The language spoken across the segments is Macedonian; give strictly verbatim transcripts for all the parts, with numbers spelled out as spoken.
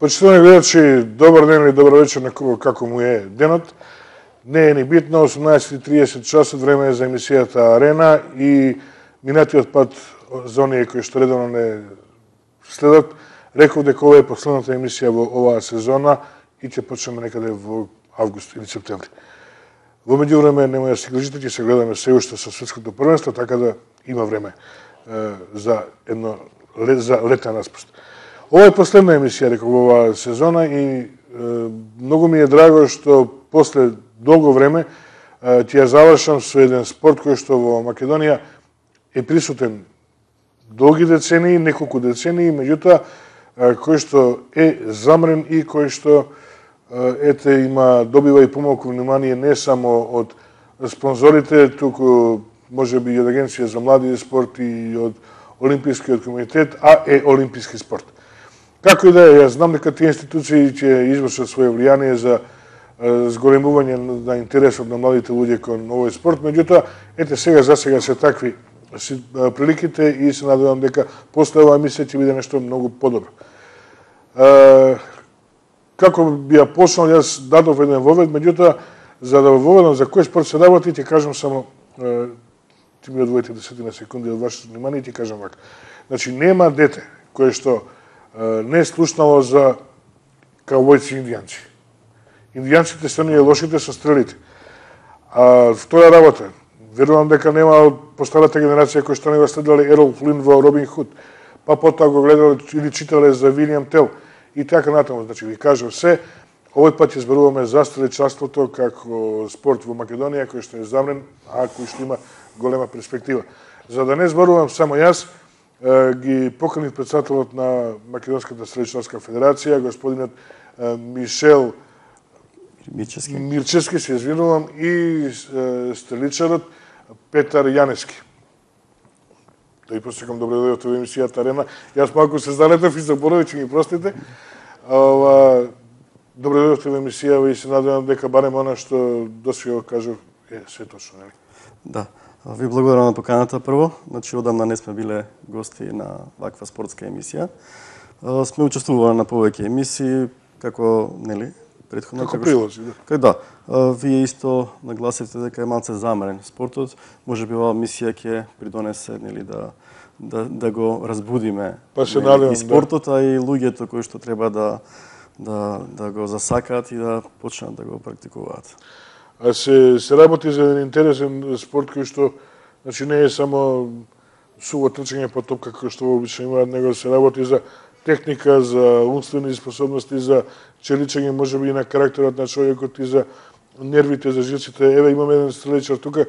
Почитувани гледачи, добар ден или добар вечер на кого како му е денот. Не е ни битно, осумнаесет и триесет часот, време е за емисијата Арена и минатиот пат за оние кои што редовно не следат, реков дека ова е последната емисија во оваа сезона и ќе почнеме некаде во август или септември. Во меѓувреме немоја да се грижите, ќе се гледаме се уште со светското првенство, така да има време е, за едно за летен распуст. Ова е последна емисија реков во оваа сезона и е, многу ми е драго што после долго време е, ќе ја завршам со еден спорт кој што во Македонија е присутен долги децении, неколку децении, меѓутоа кој што е замрен и кој што ете има добива и помалку внимание не само од спонзорите, туку можеби и од Агенција за млади и спорт и од Олимпискиот комитет, а е олимписки спорт. Како и да е, јас знам дека тие институции ќе извршат своје влијание за зголемување на интересот на младите луѓе кон овој спорт, меѓутоа ете сега за сега се такви приликите и се надевам дека после оваа емисија ќе биде нешто многу подобро. Како би ја почнал, јас дадов еден вовед, меѓутоа за да воведам за кој спорт се работи, ќе кажам само ти ми одвоите десетина секунди од вашето внимание и ти кажам вака. Значи, нема дете кое што не е слушнало за каубојци и индијанци. Индијанците се оние лошите со стрелите. А втора работа, верувам дека нема од постарата генерација кои што не го следеле Ерол Флин во Робин Худ, па потоа го гледале или читале за Вилијам Тел и така натаму. Значи, ви кажам се, овој пат ќе зборуваме за стреличарството како спорт во Македонија кој што е замрен, а кој што има голема перспектива. За да не зборувам само јас, ги поканив председателот на Македонската стреличарска федерација, господинот Мишел Мирчевски, Мирчевски, се извинувам, и стреличарот Петар Јанески. Да и посекам добре дојдовте во емисијата Арена. Јас малку се залетав и заборавив, ќе ми простите. Ова, добре дојдовте во емисија и се надевам дека барем она што досега кажав е се точно, нели? Да. Ви благодарам на поканата прво. Значи, одамна не сме биле гости на ваква спортска емисија. Сме учествували на повеќе емисии, како, нели, претходно. Како прилози, да. Кај да. Вие исто нагласивте дека е малце замрен спортот. Можеби оваа емисија ќе придонесе, нели, да да да го разбудиме. Па се надевам, и спортот, а и луѓето кои што треба да да да го засакаат и да почнат да го практикуваат. А се, се работи за еден интересен спорт кој што значи не е само суво трчање по топка кој што обично имаат, него се работи за техника, за умствени способности, за челичење можеби и на карактерот на човекот и за нервите, за жилците. Еве имаме еден стреличар тука,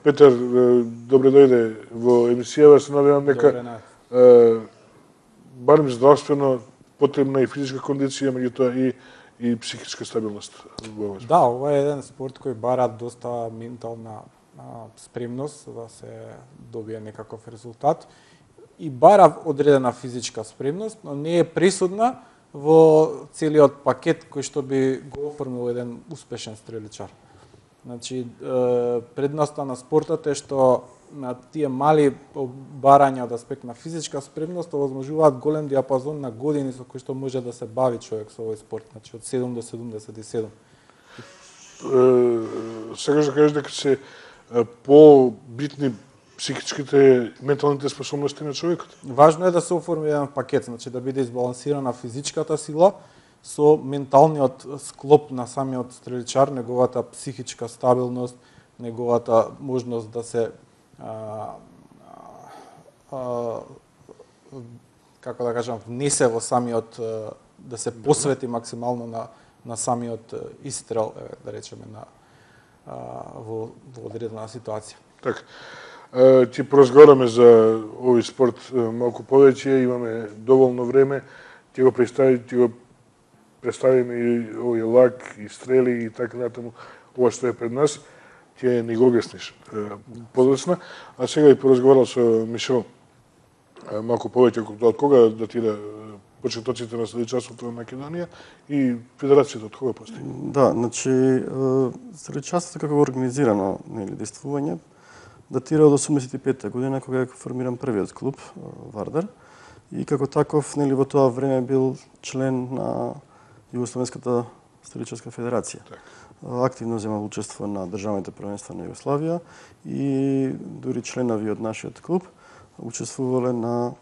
Петар, добре дојде во емисијава, се надевам дека барем здравствено потребна и физичка кондиција, меѓутоа и и психичка стабилност. Да, ова е еден спорт кој бара доста ментална а, спремност за да се добие некаков резултат и бара одредена физичка спремност, но не е присутна во целиот пакет кој што би го оформил еден успешен стреличар. Значи, предноста на спортот е што на тие мали барања од аспект на физичка спремност овозможуваат голем диапазон на години со кои што може да се бави човек со овој спорт, значи од седум до седумдесет и седум. Сакаш да кажеш дека се по-битни психичките, менталните способности на човекот? Важно е да се оформи еден пакет, значи да биде избалансирана физичката сила со менталниот склоп на самиот стреличар, неговата психичка стабилност, неговата можност да се а, а, како да кажам, внесе во самиот, да се посвети максимално на, на самиот истрел, да речеме, на, а, во, во одредена ситуација. Така. Ти поразговараме за овој спорт малку повеќе, имаме доволно време, ти го представи, ти го представиме и овој лак, и стрели, и така натаму, ова што е пред нас, ќе ни го објасниш подоцна. А сега и поразговарал со Мишел малку повеќе од кога датира почетоците на стреличарството во Македонија и федерацијата од кога постои? Да, значи стреличарството како организирано, нели, действување датира од осумдесет и петта година кога е формиран првиот клуб Вардар и како таков, нели, во тоа време бил член на Југословенската стреличарска федерација. Так. Активно земал учество на државните првенства на Југославија и дури членови од нашиот клуб учествувале на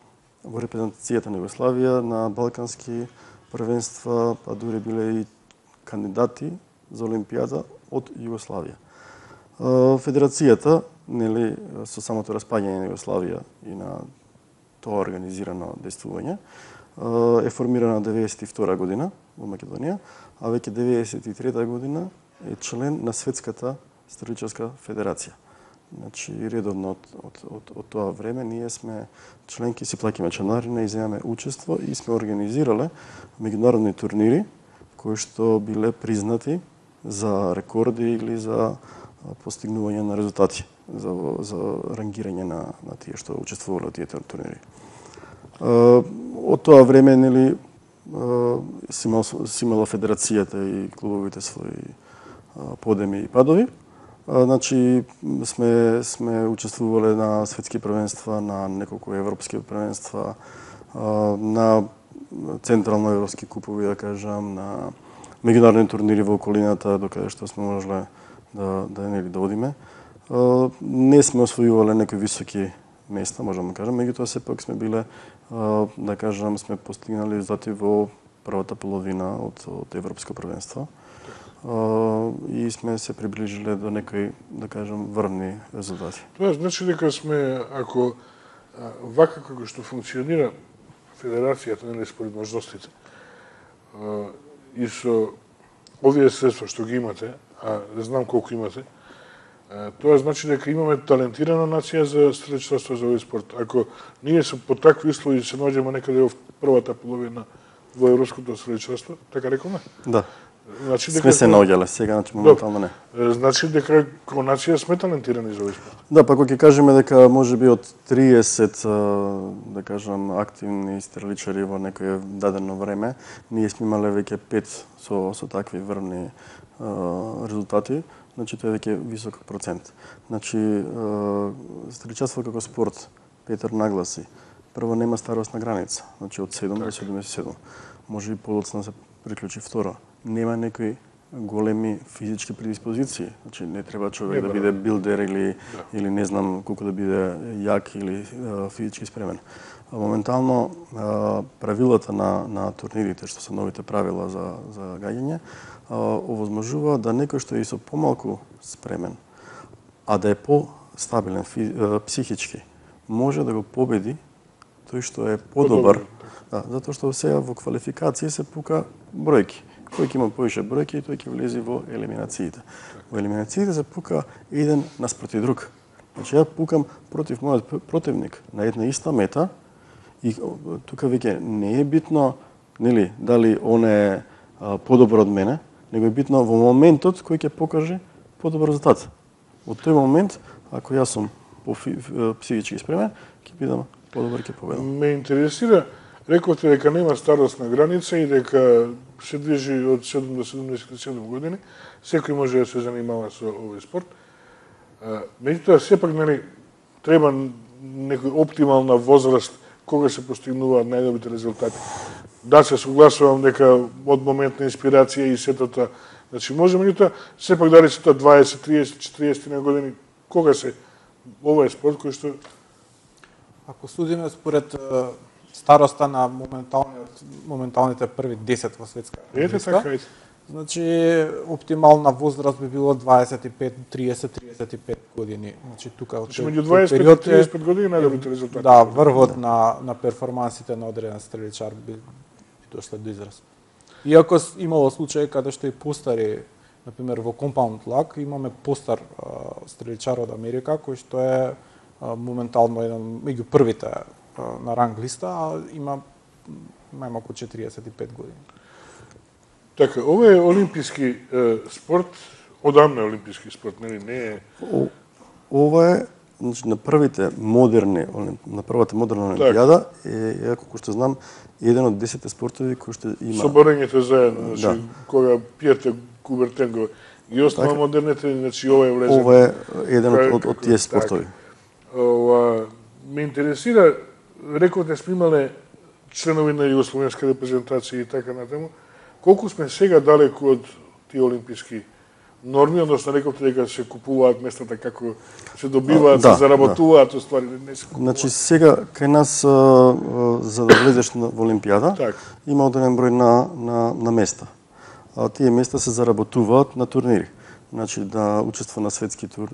во репрезентацијата на Југославија на балкански првенства, па дури биле и кандидати за Олимпијада од Југославија. Федерацијата, нели, со самото распаѓање на Југославија и на тоа организирано действување, е формирана деветдесет и втора година во Македонија, а веќе деветдесет и трета година е член на Светската стреличарска федерација. Значи, редовно од, од, од, од тоа време ние сме членки, си плаќаме членарина и земаме учество и сме организирале меѓународни турнири кои што биле признати за рекорди или за постигнување на резултати, за, за рангирање на, на тие што учествувале од тие турнири. Од тоа време, нели, си имала федерацијата и клубовите своји подеми и падови. Значи, сме, сме учествувале на светски првенства, на неколку европски првенства, на централно-европски купови, да кажам, на меѓународни турнири во околината, докаде што сме можеле да, да, нели, да одиме. Не сме освојувале некои високи места, можам да кажам, меѓутоа сепак сме биле, да кажам, сме постигнали резултати во првата половина од, од европско првенство. И сме се приближиле до некои, да кажам, врвни резултати. Тоа значи дека сме, ако вака како што функционира федерацијата, нели, според можностите, и со овие средства што ги имате, а не знам колку имате, тоа значи дека имаме талентирана нација за стреличарство, за овој спорт. Ако ние се по такви услови се наоѓаме некаде во првата половина во европското стреличарство, така рекоме? Да. Значи, сме се наоѓале, сега, значи, моментално не. Значи дека како нација сме талентирани за овој спорт. Да, па кога ќе кажеме дека може би од триесет, да кажам, активни стреличари во некое дадено време, ние сме имале веќе пет со, со такви врвни резултати, значи тоа е веќе висок процент. Значи, стреличарство како спорт, Петар нагласи, прво нема старосна граница, значи од седум до седумдесет и седум. Може и подоцна се приклучи. Второ, нема некои големи физички предиспозиции. Значи не треба човек не, да биде билдер или да. или не знам колку да биде јак или а, физички спремен. А, моментално а, правилата на на турнирите, што се новите правила за за гаѓање, овозможува да некој што е и со помалку спремен, а да е по-стабилен фи, а, психички, може да го победи тој што е подобар. Да, затоа што сега во квалификации се пука бројки. Кој ќе има повише бројки, тој ќе влезе во елиминациите. Во елиминациите се пука еден наспроти друг. Значи, ја пукам против мојот противник на една иста мета и тука веќе не е битно, нели, дали он е а, подобар од мене, него е битно во моментот кој ќе покаже подобар резултат. Од тој момент, ако јас сум психички спремен, ќе бидам подобар, ќе победам. Ме интересира, рековте дека нема старосна граница и дека се движи од седум до седумдесет и седум години, секој може да се занимава со овој спорт. Меѓутоа, сепак, нели, треба некој оптимална возраст кога се постигнуваат најдобрите резултати. Да, се согласувам дека од момент на инспирација и сетата, значи, може, меѓутоа, сепак дали се тоа дваесет, триесет, четириесет на години, кога се ова е спорт кој што... Ако судиме според староста на моменталните први десет во светска првенства, значи оптимална возраст би било дваесет и пет, триесет, триесет и пет години. Значи тука значи меѓу дваесет и триесет и пет години најдобрите резултати. Да, врвот на на перформансите на одреден стреличар би, би дошле до израз. Иако имало случаи каде што и постари, например во Compound Luck, имаме постар стреличар од Америка кој што е моментално еден меѓу првите на ранг листа, а има најмалку четириесет и пет години. Така, ова е олимписки е, спорт, одамна е олимписки спорт, нели не е... О, ова е, значи, на првите модерни, на првата модерна олимпијада е, е, колку што знам, еден од десетте спортови кои што има... Со борењето заедно, значи, да. Кога Пиерте Кубертен го ги остава така, модерните, значи ова е влезен... Ова е еден од, од, од тие спортови. Така, ова, ме интересира, рековте сме имале членови на југословенска репрезентација и така натаму. Колку сме сега далеку од тие олимписки норми, односно рековте дека се купуваат местата како се добиваат, да, се заработуваат, да. Оствари не се купуваат. Значи сега кај нас а, а, за да влезеш во Олимпијада так. Има одреден број на на на места. А тие места се заработуваат на турнири. Значи да учества на светски тур,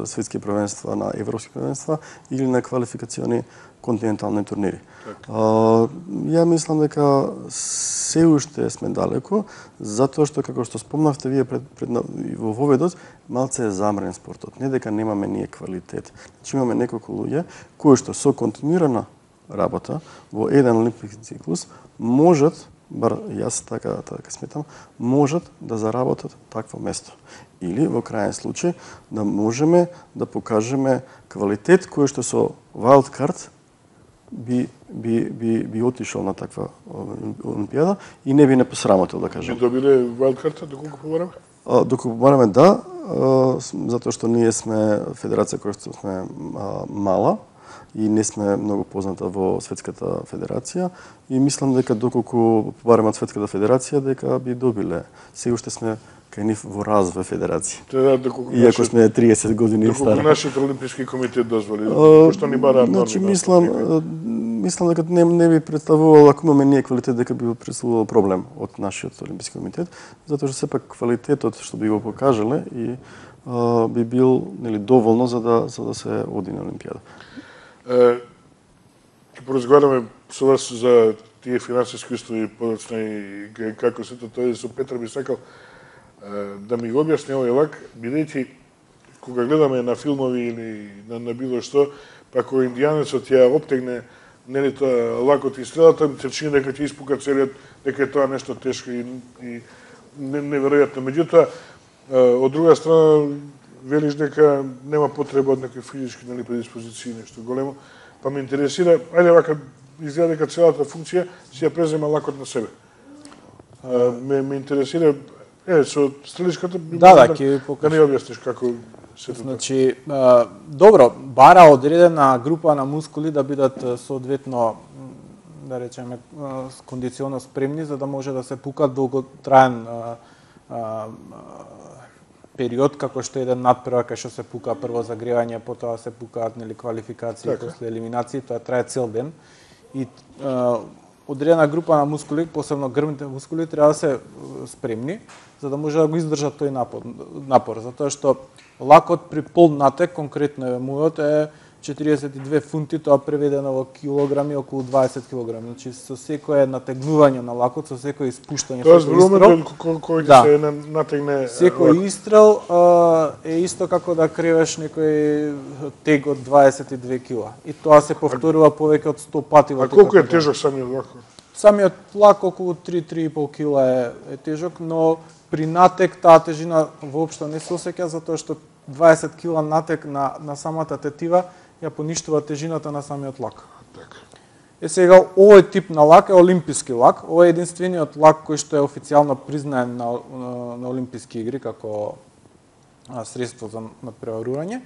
светски првенства, на европски првенства или на квалификациони континентални турнири. Так. А, ја мислам дека се уште сме далеко, затоа што како што спомнавте вие пред, пред во воведот, малце е замрен спортот. Не дека немаме ние квалитет. Значи имаме неколку луѓе кои што со континуирана работа во еден олимписки циклус можат, бар јас така така сметам, можат да заработат такво место. Или во крајен случај да можеме да покажеме квалитет кој што со wild card би би би би отишол на таква олимпијада и не би не посрамотил, да кажам. Би добиле wild card доколку побараме? А, доколку побараме да, а, затоа што ние сме федерација која што сме а, мала и не сме многу позната во светската федерација и мислам дека доколку побараме од светската федерација дека би добиле. Сега уште сме кај нив во развој федерација. Teda, доколку Иако сме триесет години доколку стара. нашиот олимписки комитет дозволи, пошто ни бараат норми. Значи мислам мислам дека не не би представувало, ако имаме ние квалитет, дека би представувало проблем од нашиот олимписки комитет, затоа што сепак квалитетот што би го покажале и а, би бил нели доволно за да за да се оди на олимпијада. Ќе поразговараме со вас за тие финансиски услови подоцна и како се тоа со Петар би сакал да ми го објасни овој лак, бидејќи кога гледаме на филмови или на, на било што, па кога индијанецот ја обтегне нели тоа лакот и стрелата, се чини дека ќе испука целиот, дека е тоа нешто тешко и, и неверојатно. Меѓутоа, од друга страна, велиш дека нема потреба од некои физички нели предиспозиции, нешто големо, па ме интересира, ајде вака, изгледа дека целата функција си ја презема лакот на себе. А, ме, ме интересира, е, со стреличката, да, да, ќе да не објасниш како се тоа. Значи, а, добро, бара одредена група на мускули да бидат соодветно, да речеме, кондиционно спремни, за да може да се пука долготраен а, а, период, како што еден надпревар кај што се пука прво загревање, потоа се пукаат нели квалификации, така. После елиминации, тоа трае цел ден. И а, одредена група на мускули, посебно грбните мускули, треба да се спремни, за да може да го издржат тој напор, напор затоа што лакот при пол натек, конкретно е мојот, е четириесет и две фунти, тоа преведено во килограми, околу дваесет килограми. Значи, со секое натегнување на лакот, со секој испуштање, тоа со истрел, кој да. се натегне секој лакот. Истрел а, е исто како да кревеш некој тег од дваесет и две кила. И тоа се повторува повеќе од сто пати во текот. А колку е тежок самиот лак? Самиот лак околу три до три и пол кила е, е тежок, но при натек таа тежина воопшто не се осеќа, затоа што дваесет кила натек на, на самата тетива ја поништува тежината на самиот лак. Така. Е сега, овој тип на лак е олимписки лак. Ова е единствениот лак кој што е официјално признаен на, на, на олимписки игри како а, средство за надпреварување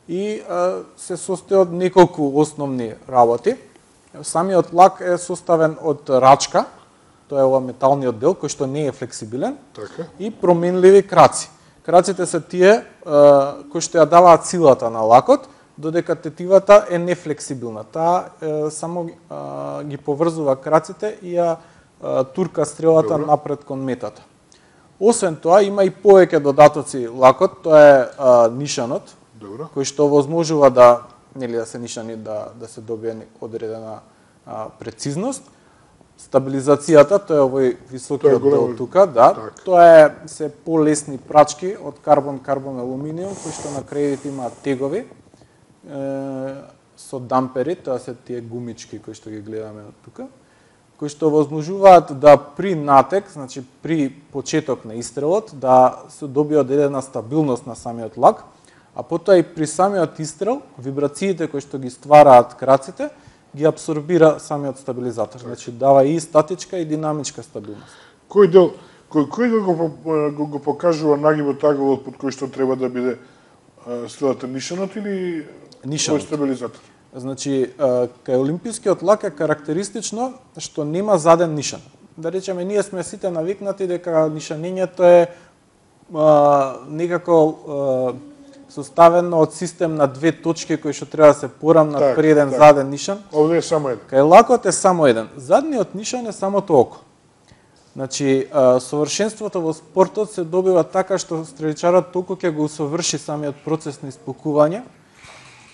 и а, се состои од неколку основни работи. Самиот лак е составен од рачка, тоа е ова металниот дел кој што не е флексибилен, така. И променливи краци. Краците се тие а, кои што ја даваат силата на лакот, додека тетивата е нефлексибилна. Таа е, само а, ги поврзува краците и ја а, турка стрелата Добре. Напред кон метата. Освен тоа, има и повеќе додатоци лакот, тоа е а, нишанот, Добре. Кој што возможува да, нели да се нишани, да, да се добие одредена а, прецизност. Стабилизацијата, тоа е овој високиот дел тука, да, так. Тоа е се полесни прачки од карбон-карбон алуминиум, кои што на крајите имаат тегови, со дампери, тоа се тие гумички кои што ги гледаме од тука, кои што возможуваат да при натек, значи при почеток на истрелот, да се добие одредена стабилност на самиот лак, а потоа и при самиот истрел, вибрациите кои што ги ствараат краците, ги абсорбира самиот стабилизатор. Значи дава и статичка и динамичка стабилност. Кој дел, кој, кој го, го, го покажува нагибот таговот под кој што треба да биде стрелата нишанот или нишанот. Кој стабилизатор? Значи, кај олимпискиот лак е карактеристично што нема заден нишан. Да речеме, ние сме сите навикнати дека нишанењето е а, некако а, составено од систем на две точки кои што треба да се порамнат так, при еден так. заден нишан. Овде е само еден. Кај лакот е само еден. Задниот нишан е самото око. Значи, а, совршенството во спортот се добива така што стреличарот толку ќе го усоврши самиот процес на испукување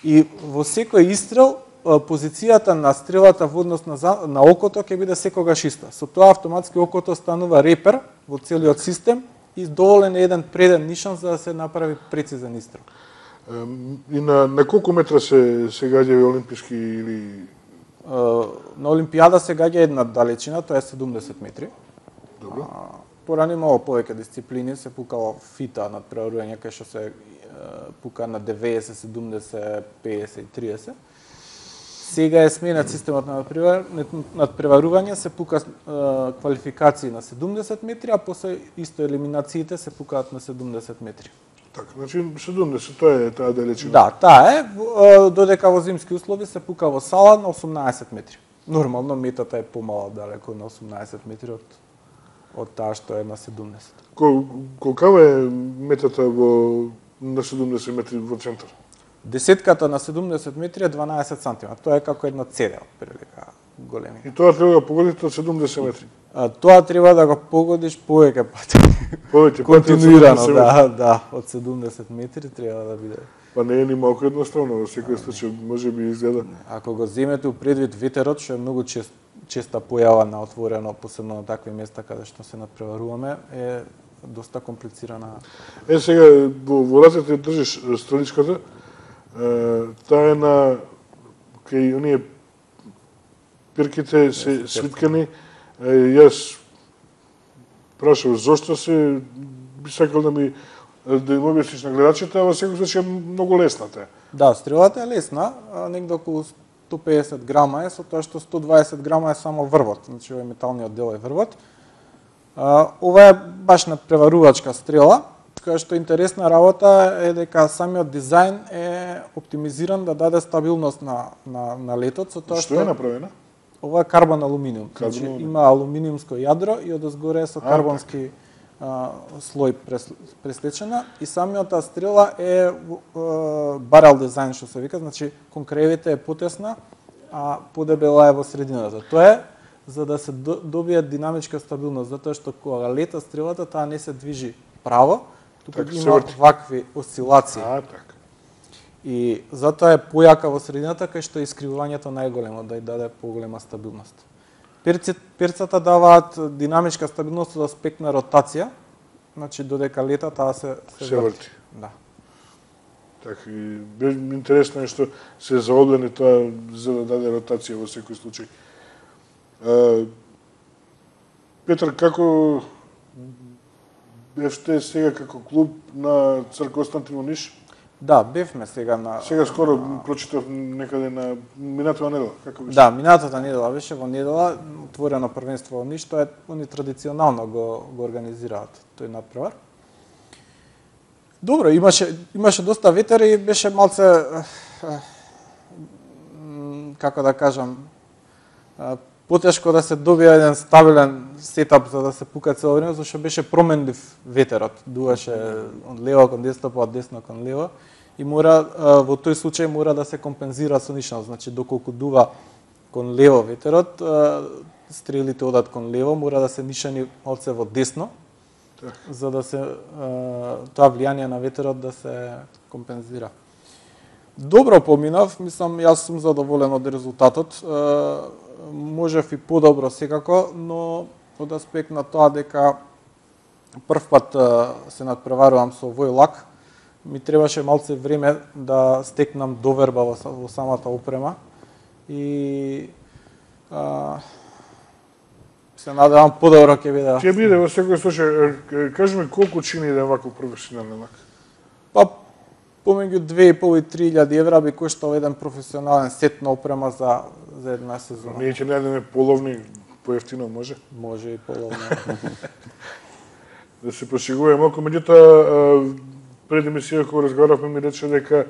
и во секој истрел позицијата на стрелата во однос на, на окото ќе биде секогаш иста. Со тоа автоматски окото станува репер во целиот систем и доволен е еден преден нишан за да се направи прецизен истрел. И на, на колку метра се, се гаѓави олимписки или... На Олимпијада се гаѓа една далечина, тоа е седумдесет метри. Добро. Порано имало повеќе дисциплини, се пукало фита над преварување, кај што се пука на деветдесет, седумдесет, педесет и триесет. Сега е сменет системот на надпреварување, се пука квалификации на седумдесет метри, а после исто елиминациите се пукаат на седумдесет метри. Така, значи седумдесет, тоа е таа далечина. Да, таа е, додека во зимски услови се пука во сала на осумнаесет метри. Нормално метата е помала далеко на осумнаесет метри од од таа што е на седумдесет. Кол, колкава е метата во на седумдесет метри во центар? Десетката на седумдесет метри е дванаесет сантиметри. Тоа е како една цедел, прилика големина. И тоа треба да погодите од седумдесет метри? А, тоа треба да го погодиш повеќе пати. Повеќе пати континуирано, да, да, од седумдесет метри треба да биде. Па не е ни малку едноставно, во секој случај може би изгледа. Ако го земете предвид ветерот, што е многу чест, честа појава на отворено, посебно на такви места каде што се надпреваруваме, е доста комплицирана. Е, сега, во, во рацете држиш стреличката, таа е на кај оние пирките се свиткани. Јас прашав зошто се, би сакал да ми да им објасниш на гледачите, а во секој случај е многу лесна таа. Да, стрелата е лесна, негде околу сто педесет грама е, со тоа што сто дваесет грама е само врвот, значи овој металниот дел е врвот. Ова е баш надпреварувачка стрела, која што интересна работа е дека самиот дизајн е оптимизиран да даде стабилност на, на, на летот. Со тоа што, што е направена? Ова е карбон алуминиум. Карбон, значи, има алуминиумско јадро и одозгоре со карбонски а, слој прес, преслечена и самиот стрела е, е барел дизајн што се вика, значи конкревите е потесна, а подебела е во средината. Тоа е за да се добие динамичка стабилност, затоа што кога лета стрелата таа не се движи право, туку так, има вакви осцилации. А, така. И затоа е појака во средината, кај што е искривувањето најголемо, да ја даде поголема стабилност. Перци, перцата даваат динамичка стабилност од аспект на ротација, значи додека лета таа се се, се врти. Да. Така, и интересно е што се заоблени тоа за да даде ротација во секој случај. А, Петар, како бевте сега како клуб на Цар Константин во Ниш? Да, бевме сега на... Сега скоро прочитав некаде на минатава недела, како беше? Да, минатата недела беше во недела, отворено првенство во Ниш, тоа е, они традиционално го, го организираат тој надпревар. Добро, имаше, имаше доста ветер и беше малце, како да кажам, потешко да се добие еден стабилен сетап за да се пука цело време, зашто беше променлив ветерот. Дуваше од лево кон десно, па од десно кон лево. И мора, во тој случај мора да се компензира со нишно. Значи, доколку дува кон лево ветерот, стрелите одат кон лево, мора да се нишани малце во десно, так, за да се тоа влијание на ветерот да се компензира. Добро поминав, мислам, јас сум задоволен од резултатот. Можев и подобро секако, но од аспект на тоа дека прв пат се надпреварувам со овој лак, ми требаше малце време да стекнам доверба во, во самата опрема и а, се надевам подобро ќе биде. Ќе биде во секој случај. Кажи ми колку чини еден ваков професионален лак? Па помеѓу две и пол и три илјади евра би коштал еден професионален сет на опрема за за една сезона. Ние ќе најдеме половни поевтино, може? Може и половно. Да се пошегуваме малку, меѓутоа пред емисија кога разговаравме ми рече дека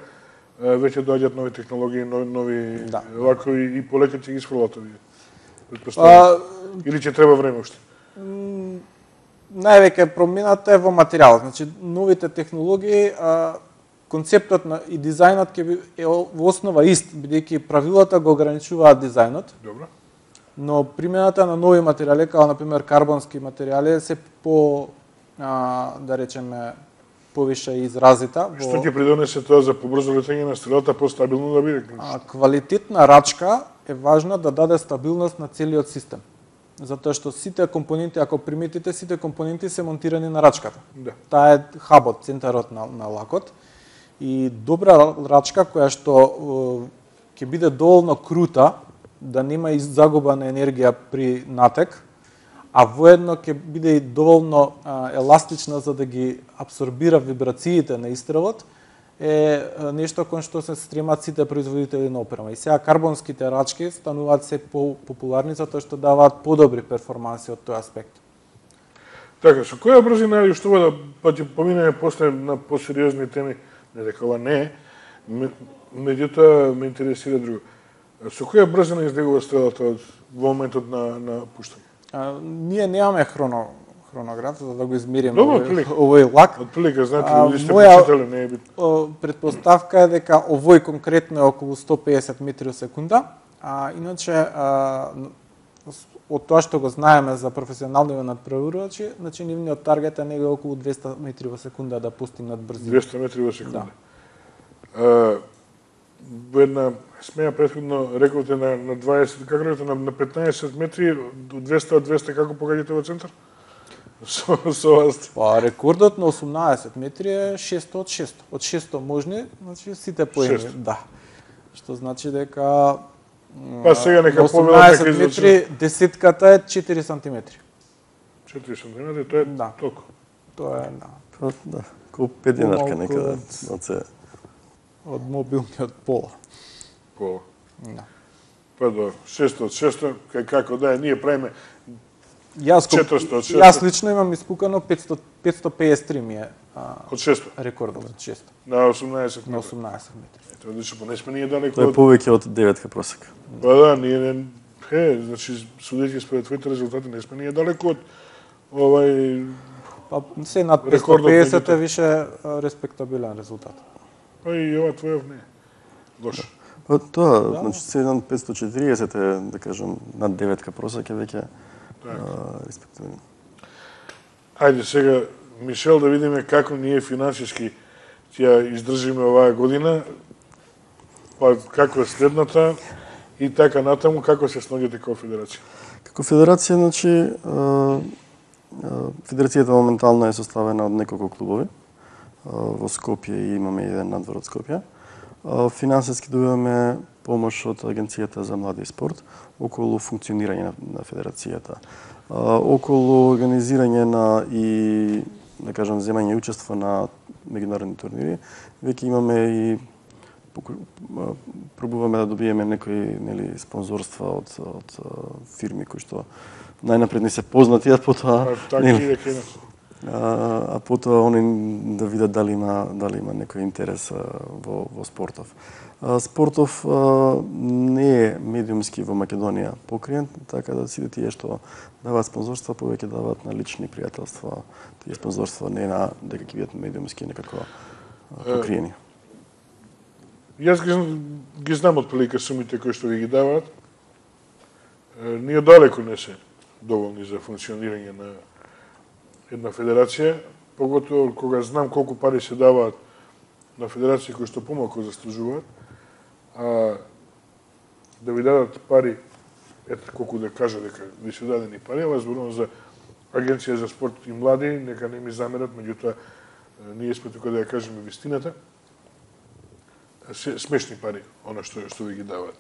веќе доаѓаат нови технологии, нови, нови Да. вако и, и полека ќе ги сфрлат овие. Предпоставувам. Или ќе треба време уште? Највеќе промената е во материјалот. Значи, новите технологии, а, концептот на и дизајнот ќе би, е во основа ист, бидејќи правилата го ограничуваат дизајнот. Добро. Но примената на нови материјали, како на пример карбонски материјали, се по, а, да речеме, повише изразита. Во... Што ќе придонесе тоа за побрзо летање на стрелата, постабилно да биде? А, квалитетна рачка е важна да даде стабилност на целиот систем. Затоа што сите компоненти, ако приметите, сите компоненти се монтирани на рачката. Да. Таа е хабот, центарот на, на лакот. И добра рачка која што ќе биде доволно крута, да нема и загуба на енергија при натек, а воедно ќе биде и доволно а, еластична за да ги абсорбира вибрациите на истрелот, е нешто кон што се стремат сите производители на опрема. И сега карбонските рачки стануваат се популарни затоа што даваат подобри перформанси од тој аспект. Така, со која брзина или што да па ќе поминеме после на посериозни теми, не дека ова не е, меѓутоа ме интересира друго. Со која брзина излегува стрелата од во моментот на на пуштање? А, ние немаме хроно хронограф за да го измериме Добро, овој, овој лак. Од прилика, знаете, А, ли сте моја- почитали, не е битно. Предпоставка е дека овој конкретно е околу сто педесет метри во секунда, а иначе а, од тоа што го знаеме за професионални надпреварувачи, значи нивниот таргет е негде околу двесте метри во секунда да постигнат брзина. двесте метри во секунда. Да. Во една смеја претходно рековте на на дваесет, како рековте на на петнаесет метри, од двесте од двесте како погаѓате во центар? Со со вас. Па рекордот на осумнаесет метри е шесто од шесто. Од шесто можни, значи сите поени, Шесто. да. Што значи дека Па сега нека на победата осумнаесет ќе метри десетката е четири сантиметри. четири сантиметри, тоа е Да. толку. Тоа е, да. Па, да, колку пет динарка Помалку некаде од- од се. Од мобилниот пола. Пола. Да. Па до шесто од шесто, кај како да е, ние правиме Јас, ко- четиристо од шесто. јас лично имам испукано петсто петсто педесет три ми е а, од шесто рекордот од шесто на осумнаесет на метри. осумнаесет метри. Ето, одлично, па не сме ние далеко Тоа е од... повеќе од деветка просек. Па да, ние не... Е, значи, судејќи според твоите резултати, не сме ние далеко од овај... Па се над петсто Рекордот педесет меѓутоа. е више а, респектабилен резултат. Па и ова твојов не е. Лош. Па тоа, Да. значи седум петсто четириесет е, да кажем, над деветка просек е веќе Така. а, респективно. Ајде сега, Мишел, да видиме како ние финансиски ќе ја издржиме оваа година, па како е следната и така натаму, како се снаѓате како федерација. Како федерација, значи, а, а, федерацијата моментално е составена од неколку клубови. А, во Скопје имаме еден надвор од Скопје. А, финансиски добиваме помош од Агенцијата за млади и спорт околу функционирање на, на федерацијата. А, околу организирање на и, да кажам, земање и учество на меѓународни турнири, веќе имаме и поку- а, пробуваме да добиеме некои нели спонзорства од од а, фирми кои што најнапред не се познати, а потоа Па така нели, и дека има. а, а потоа они да видат дали има дали има некој интерес а, во во спортов. А, спортов а, не е медиумски во Македонија покриен, така да сите тие што даваат спонзорства повеќе даваат на лични пријателства. Тие спонзорства не на дека ќе бидат медиумски некако а, покриени. Јас ги, зн- ги знам од прилика сумите кои што ви ги даваат. Е, Ние далеко не се доволни за функционирање на една федерација, поготово кога знам колку пари се даваат на федерации кои што помалку заслужуваат, а да ви дадат пари, ето колку да кажа дека ви се дадени пари, ова зборувам за Агенција за спорт и млади, нека не ми замерат, меѓутоа е, ние сме тука да ја кажеме вистината. Се, смешни пари, она што што ви ги даваат.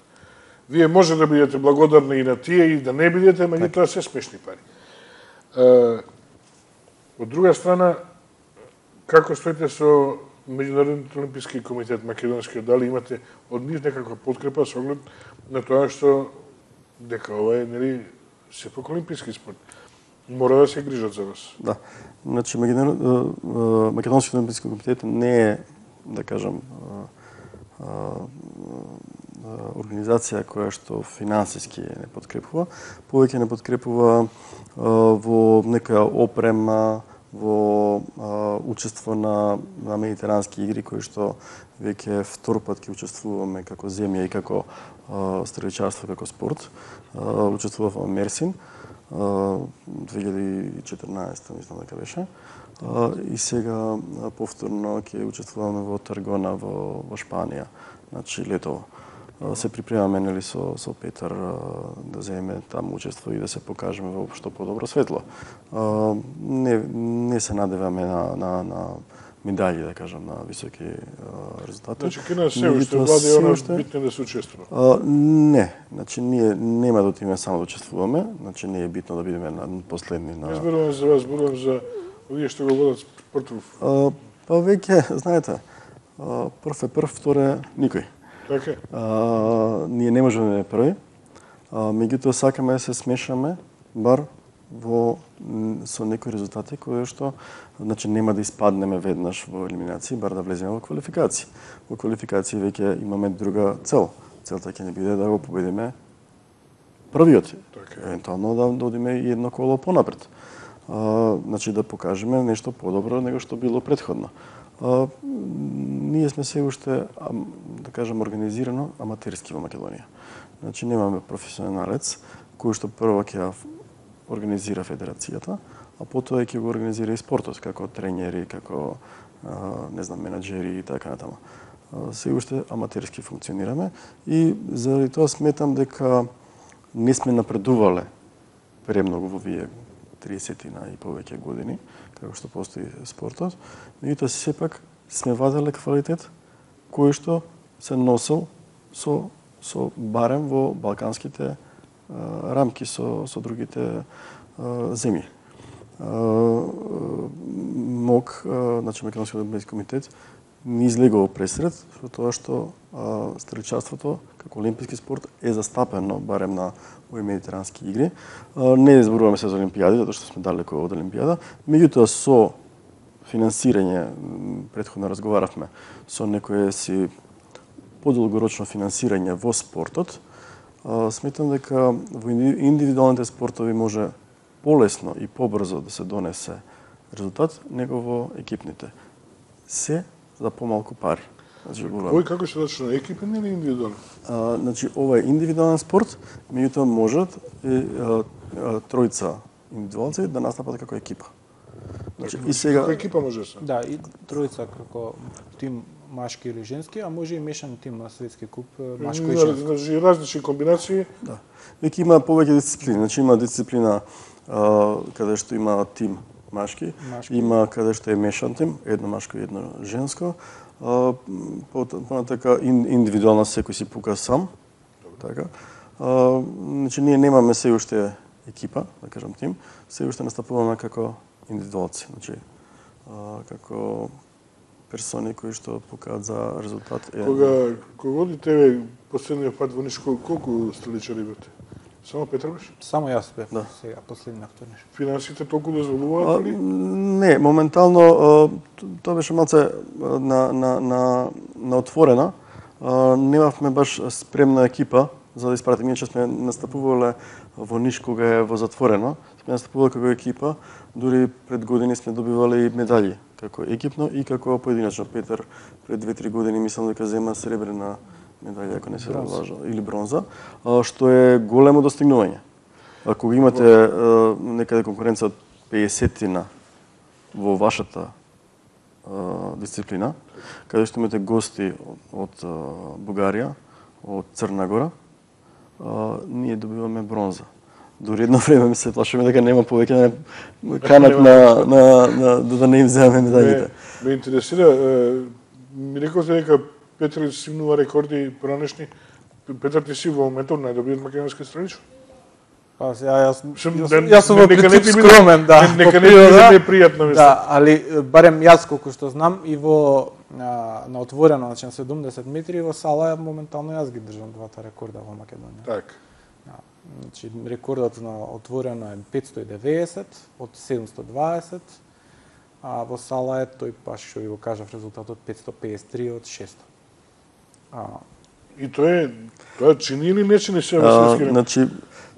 Вие може да бидете благодарни и на тие и да не бидете, меѓутоа се смешни пари. Е, од друга страна, како стоите со Меѓународниот олимписки комитет македонски, дали имате од нив некаква подкрепа со оглед на тоа што дека ова е нели сепак олимписки спорт. Мора да се грижат за вас. Да. Значи, Македонскиот олимписки комитет не е, да кажам, организација која што финансиски не подкрепува, повеќе не подкрепува во некоја опрема, во учество на, на медитерански игри, кои што веќе втор пат ќе учествуваме како земја и како стреличарство, како спорт. Учествував во Мерсин, две илјади и четрнаесета, мислам дека беше. И сега повторно ќе учествуваме во Таргона во, во Шпанија, значи летово. Се припремаме нели со со Петар да земеме таму учество и да се покажеме во што подобро светло. Не не се надеваме на на на медали, да кажам, на високи резултати. Значи кина се уште влади она битно да се учествува. Не, значи ние нема да отидеме само да учествуваме, значи не е битно да бидеме на последни на. Не зборувам за вас, зборувам за овие што го водат спортов. Па веќе знаете, прв е прв, втор е никој. Така. А, ние не можеме да први, а, меѓутоа сакаме да се смешаме бар во со некои резултати кои што значи нема да испаднеме веднаш во елиминации, бар да влеземе во квалификации. Во квалификации веќе имаме друга цел. Целта ќе не биде да го победиме првиот. Така. Евентуално да додиме и едно коло понапред. А, значи да покажеме нешто подобро него што било претходно. А, ние сме се уште, да кажем, организирано аматерски во Македонија. Значи немаме професионалец кој што прво ќе организира федерацијата, а потоа ќе го организира и спортот, како тренери, како а, не знам, менаџери и така натаму. Се уште аматерски функционираме и заради тоа сметам дека не сме напредувале премногу во вие тридесетина и повеќе години, како што постои спортот, меѓутоа сепак сме ваделе квалитет кој што се носел со со барем во балканските а, рамки со со другите а, земји. МОК, значи Македонски олимписки комитет, ни излегува пресред со тоа што а, стрелчарството како олимписки спорт е застапено барем на овие медитерански игри. А, не зборуваме се за олимпијади, затоа што сме далеко од олимпијада, меѓутоа со финансирање, претходно разговаравме, со некое си подолгорочно финансирање во спортот, а, сметам дека во индивидуалните спортови може полесно и побрзо да се донесе резултат него во екипните. Се за помалку пари. Значи, Кој како се зачна, екипен или индивидуален? А, значи, ова е индивидуален спорт, меѓутоа можат и а, а, тројца индивидуалци да настапат како екипа. Значи, и сега Како екипа може се? Да, и тројца како тим машки или женски, а може и мешан тим на светски куп машко и женско. Значи различни комбинации. Да. Веќе има повеќе дисциплини. Значи има дисциплина а, каде што има тим машки, Машки. има каде што е мешан тим, едно машко и едно женско. А, понатака индивидуална секој си пука сам. Така. А, значи ние немаме се уште екипа, да кажам тим, се уште настапуваме како индивидуалци, значи а, како персони кои што покажат за резултат. Е... Кога кога одите последниот пат во Нишко, колку стреличари бевте? Само Петар беше? Само јас бев Да. сега последниот вторник. Финансите толку дозволуваат ли? Не, моментално а, тоа беше малце а, на на на на отворена. А, немавме баш спремна екипа за да испратиме, че сме настапувале во Ниш кога е во затворено. Сме настапувале како екипа, дури пред години сме добивале и медали како екипно и како поединечно. Петар пред две-три години мислам дека зема сребрена медалја, ако не се лажа, или бронза, а, што е големо достигнување. Ако имате а, некаде конкуренција од педесетина во вашата а, дисциплина, каде што имате гости од, од а, Бугарија, од Црна Гора, а, ние добиваме бронза. Дури едно време се плашиме дека нема повеќе да не канат на, на, на, да не им земеме медалите. Ме, ме интересира, е, ми рековте дека Петар симнува рекорди поранешни. Петар ти си во моментот најдобриот македонски стрелич? Па сега јас Шум, јас, не- јас сум во нека не принцип ти биде- скромен, да. не- нека по не ти биде природа. непријатно, мислам. Да, али барем јас колку што знам и во а, на отворено, значи на седумдесет метри во сала моментално јас ги држам двата рекорда во Македонија. Така. Да. Значи рекордот на отворено е петстотини и деветдесет од седумстотини и дваесет, а во сала е тој паш што ви го кажав резултатот петстотини и педесет и три од шесто. А, И тоа е тоа чини или не чини се во светски рекорд? Значи,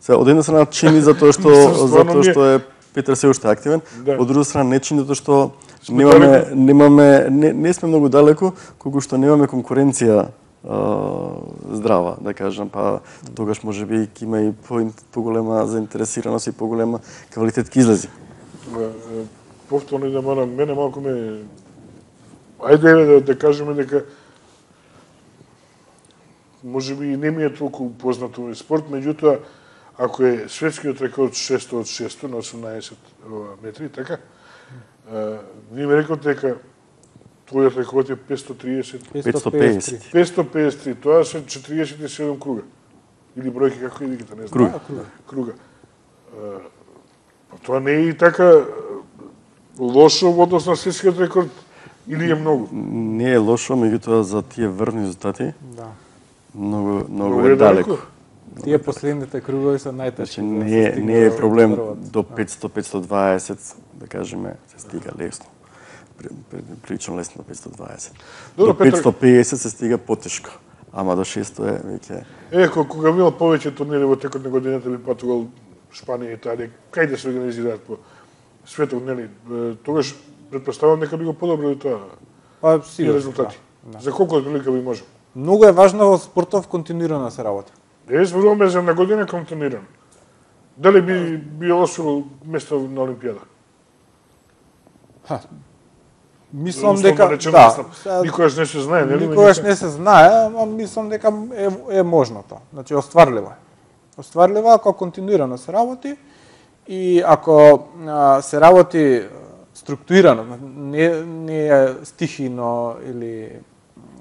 се од една страна чини затоа што затоа што е Петар се уште активен, Да. од друга страна не чини затоа што Сме немаме далеко. немаме не, не сме многу далеко, колку што немаме конкуренција а, здрава, да кажам, па тогаш можеби ќе има и по, поголема заинтересираност и поголема квалитет ќе излези. Повторно да морам, мене малку ме ајде да, да кажеме дека можеби и не ми е толку познато овој спорт, меѓутоа ако е светскиот рекорд шесто од шесто на осумнаесет метри, така? Вие ми реколте дека твојот рекорд е петстотини и триесет. петстотини и педесет. петстотини и педесет и три, тоа се четириесет и седум круга. Или бројки, како и диките, не знам. Круга. круга. Круга. Па тоа не е и така лошо во однос на светскиот рекорд, или е многу? Не е лошо, меѓутоа за тие врвни резултати Да. многу многу Многу е е далеко. далеко. Тие последните кругови се најтешки. Значи да се не е, стигне не е до проблем врвот. до петстотини до петстотини и дваесет, да кажеме, се стига лесно. При- при- Прилично лесно до петстотини и дваесет. Добро, До Петар. петстотини и педесет се стига потешко. Ама до шесто е веќе Е, ко- кога имал повеќе турнири во текот на годината, би патувал Шпанија, Италија, кај да се организираат по светот, нели? Е, Тогаш претпоставувам дека би го подобрили тоа Па тие сигурно. резултати. Да, да. За колку отприлика би можел? Многу е важно во спортов континуирано да се работи. Е, зборуваме за на година континуирано. Дали би би освоил место на Олимпијада? Ха. Мислам Условно дека речено, да, мислам, сега- никогаш не се знае, нели? Никогаш не се знае, ама мислам дека е, е можно тоа. Значи, остварливо е. Остварливо е ако континуирано се работи и ако а, се работи структурирано, не, не е стихино или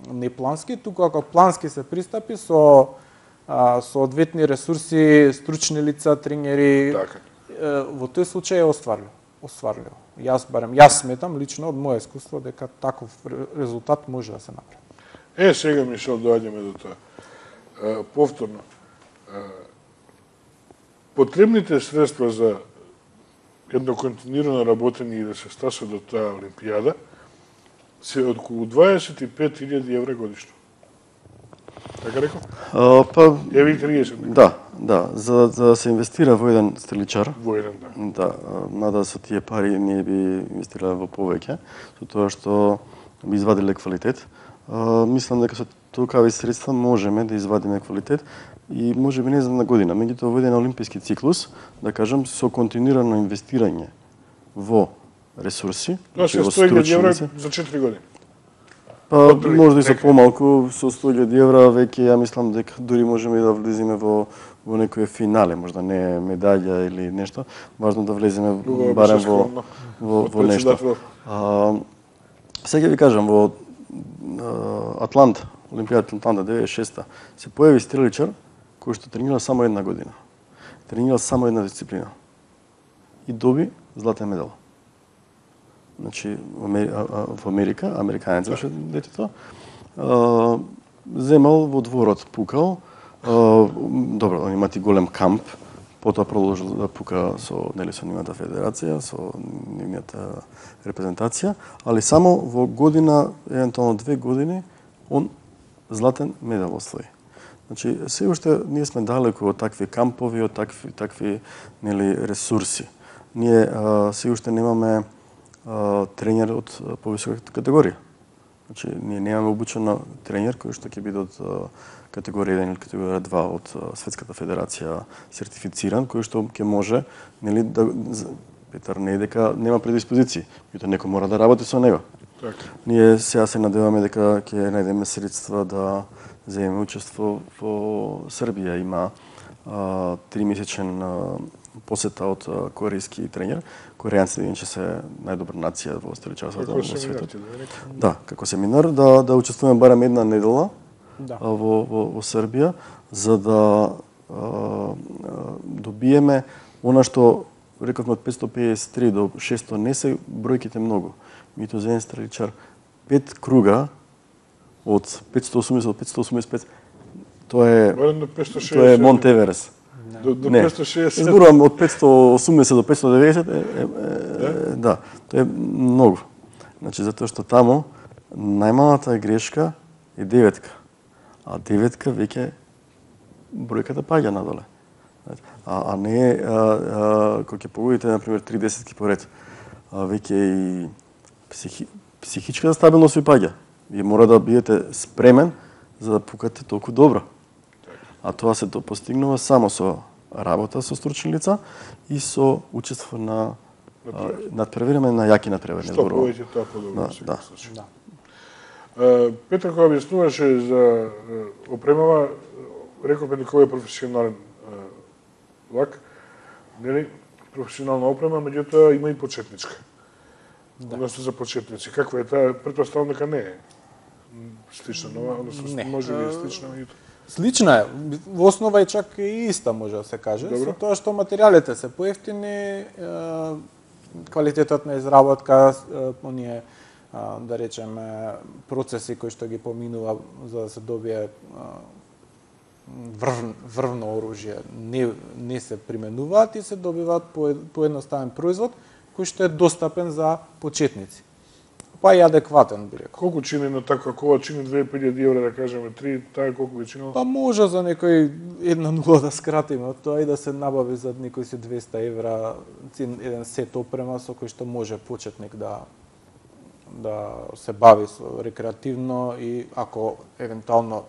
не плански, туку ако плански се пристапи со а, соодветни ресурси, стручни лица, тренери, Така. е, во тој случај е остварливо. Остварливо. Јас барем, јас сметам лично од моје искуство дека таков ре- резултат може да се направи. Е, сега, Мишел, доаѓаме до тоа. Е, повторно. Е, потребните средства за едно континуирано работење и да се стаса до таа Олимпијада се околу дваесет и пет илјади евра годишно. Така рекол? А, па Еве и триесет. да, да, за, за да се инвестира во еден стреличар, Во еден дан. да, а, мада со тие пари ние би инвестирале во повеќе, со тоа што би извадиле квалитет. А, мислам дека со толкави средства можеме да извадиме квалитет и може би не за на година, меѓутоа во еден олимписки циклус, да кажам, со континуирано инвестирање во ресурси, Тоа се во сто илјади евра стручници. за четири години. Па, Отприлика, може и со нека. помалку, со сто илјади евра, веќе ја мислам дека дури можеме и да влеземе во во некое финале, можда не медаља или нешто, важно да влеземе Друго, барем би се во скромно. во, Од во нешто. председател. А, сега ви кажам, во а, Атланта, Олимпијата Атланта деветдесет и шеста, се појави стреличар кој што тренира само една година. Тренира само една дисциплина. И доби златен медал. Значи, во Амери- а- а- во Америка, американец беше детето, а, земал во дворот, пукал, а, добро, он имати голем камп, потоа продолжил да пука со, нели, со нивната федерација, со нивната репрезентација, али само во година, евентуално две години, он златен медал освои. Значи, се уште ние сме далеко од такви кампови, од такви, такви нели, ресурси. Ние а, се уште немаме а, тренер од а, повисока категорија. Значи, ние немаме обучен тренер кој што ќе биде од а, категорија еден или категорија два од а, Светската федерација сертифициран, кој што ќе може, нели, да з- Петар не е дека нема предиспозиции, меѓутоа некој мора да работи со него. Така. Ние сега се надеваме дека ќе најдеме средства да земеме учество во Србија. Има а, тримесечен а, посета од а, корејски тренер. Корејанците иначе се најдобра нација во стреличарството Како во се светот. да ви рекам. Да, како семинар да да учествуваме барем една недела Да. а, во, во во Србија за да а, а, добиеме она што рековме од петстотини педесет и три до шесто не се бројките многу. Меѓутоа за еден стреличар пет круга од петстотини и осумдесет до петстотини и осумдесет и пет тоа е Барем до петстотини и шеесет. тоа е Монт Еверест. До, до Не, петстотини и шеесет. зборувам од петстотини и осумдесет до петстотини и деветдесет, е, е, е, да, тоа е многу. Значи, затоа што таму најмалата грешка е деветка, а деветка веќе бројката паѓа надоле. А, а не, а, а, кога ќе погодите, например, три десетки поред, а, веќе и психи, психичка стабилност ви паѓа. Вие мора да бидете спремен за да пукате толку добро. А тоа се то постигнува само со работа со стручни лица и со учество на надпреварване на јаки надпреварни зборови. Што повеќе тоа подобро. Да, да. Uh, Петар кога објаснуваше за опремава, рековме дека ова е професионален влак, нели, професионална опрема, меѓутоа има и почетничка. Да. Односно за почетници. Каква е таа? Претпоставам дека не е слична, но односно може би е слична, меѓутоа. Слична е. Во основа е чак и иста, може да се каже. Добро. Со тоа што материјалите се поевтини, квалитетот на изработка, оние, да речеме, процеси кои што ги поминува за да се добие врв, врвно оружје не, не се применуваат и се добиваат по, поедноставен производ кој што е достапен за почетници. Па и адекватен, би рекол. Колку чини на таква кова, чини две илјади евра, да кажеме, три, таа колку би чинило? Па може за некој една нула да скратиме од тоа и да се набави за некој си двеста евра еден сет опрема со кој што може почетник да да се бави со рекреативно и ако евентуално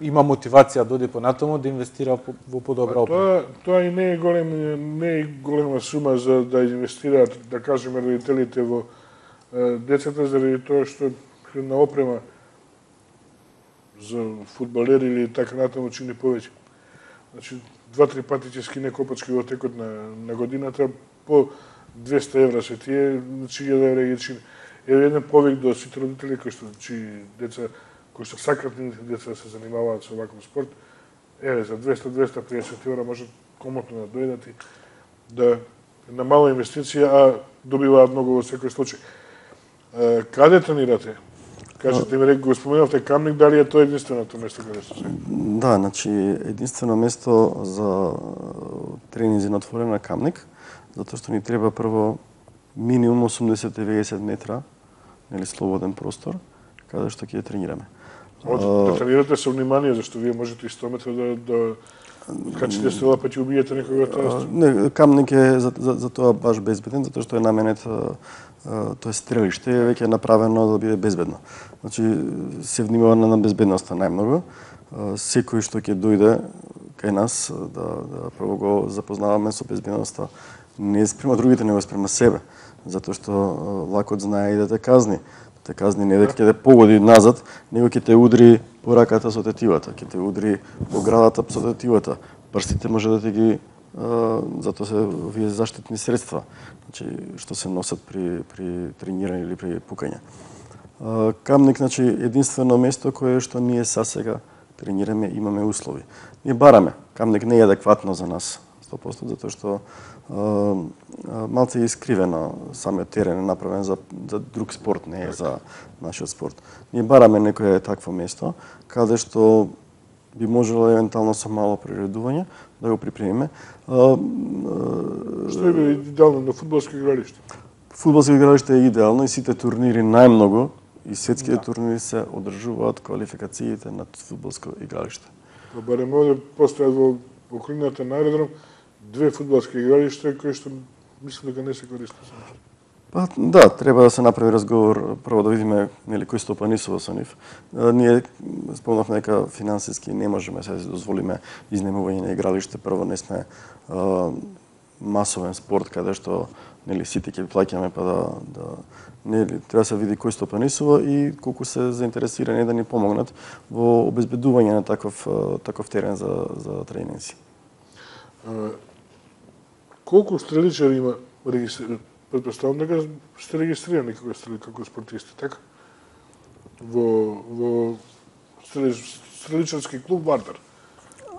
има мотивација да оди понатаму да инвестира во подобра опрема. Тоа тоа и не е голем не е голема сума за да инвестираат, да кажеме, родителите во децата, заради тоа што на опрема за фудбалери или така натаму чини повеќе. Значи, два-три пати ќе скине копачки во текот на, на годината, по двеста евра се тие, значи илјада евра ги чини. Еве еден повик до сите родители кои што чии деца, кои што сакат нивните деца да се занимаваат со ваков спорт, еве за двеста до двеста и педесет евра можат комотно да дојдат и да на мала инвестиција, а добиваат многу во секој случај. Каде тренирате? Кажете ми, го споменавте Камник, дали е тоа единственото место каде сте се? Да, значи единствено место за тренинзи на отворена Камник, затоа што ни треба прво минимум осумдесет до деведесет метра, нели, слободен простор, каде што ќе тренираме. Да тренирате со внимание, зашто вие можете и сто метра да, да качите стрела, па ќе убиете некога тоа. Не, Камник е за, за, за тоа баш безбеден, затоа што е наменет, тоа е стрелиште, е веќе направено да биде безбедно. Значи, се внимава на безбедноста најмногу. Секој што ќе дојде кај нас, да, да прво го запознаваме со безбедноста, не спрема другите, него спрема себе. Затоа што влакот знае и да те казни. Да те казни не дека ќе те погоди назад, него ќе те удри по раката со тетивата, ќе те удри по градата со тетивата. Прстите може да те ги затоа се овие заштитни средства, значи што се носат при при тренирање или при пукање. Камник, значи, единствено место кое што ние сасега тренираме, имаме услови. Ние бараме. Камник не е адекватно за нас сто проценти, затоа што малце е искривено, самиот терен е направен за, за друг спорт, не е за нашиот спорт. Ние бараме некое такво место, каде што би можело евентуално со мало приредување да го припремиме. Што е идеално на фудбалско игралиште? Фудбалско игралиште е идеално и сите турнири најмногу и светските да. турнири се одржуваат квалификациите на фудбалско игралиште. Барем овде постојат во околината на аеродром две фудбалски игралишта кои што мислам дека не се користат. Па да, треба да се направи разговор, прво да видиме нели кој стопанисува со нив. Ние спомнавме дека финансиски не можеме се дозволиме изнемување на игралиште, прво не сме а, масовен спорт каде што нели сите ќе плаќаме па да да нели треба да се види кој стопанисува и колку се заинтересирани да ни помогнат во обезбедување на таков таков терен за за тренинзи. Колку стреличари има регистрирани? Предпоставам дека сте регистрирани како стрели, како спортисти, така? Во во стреличарски клуб Вардар.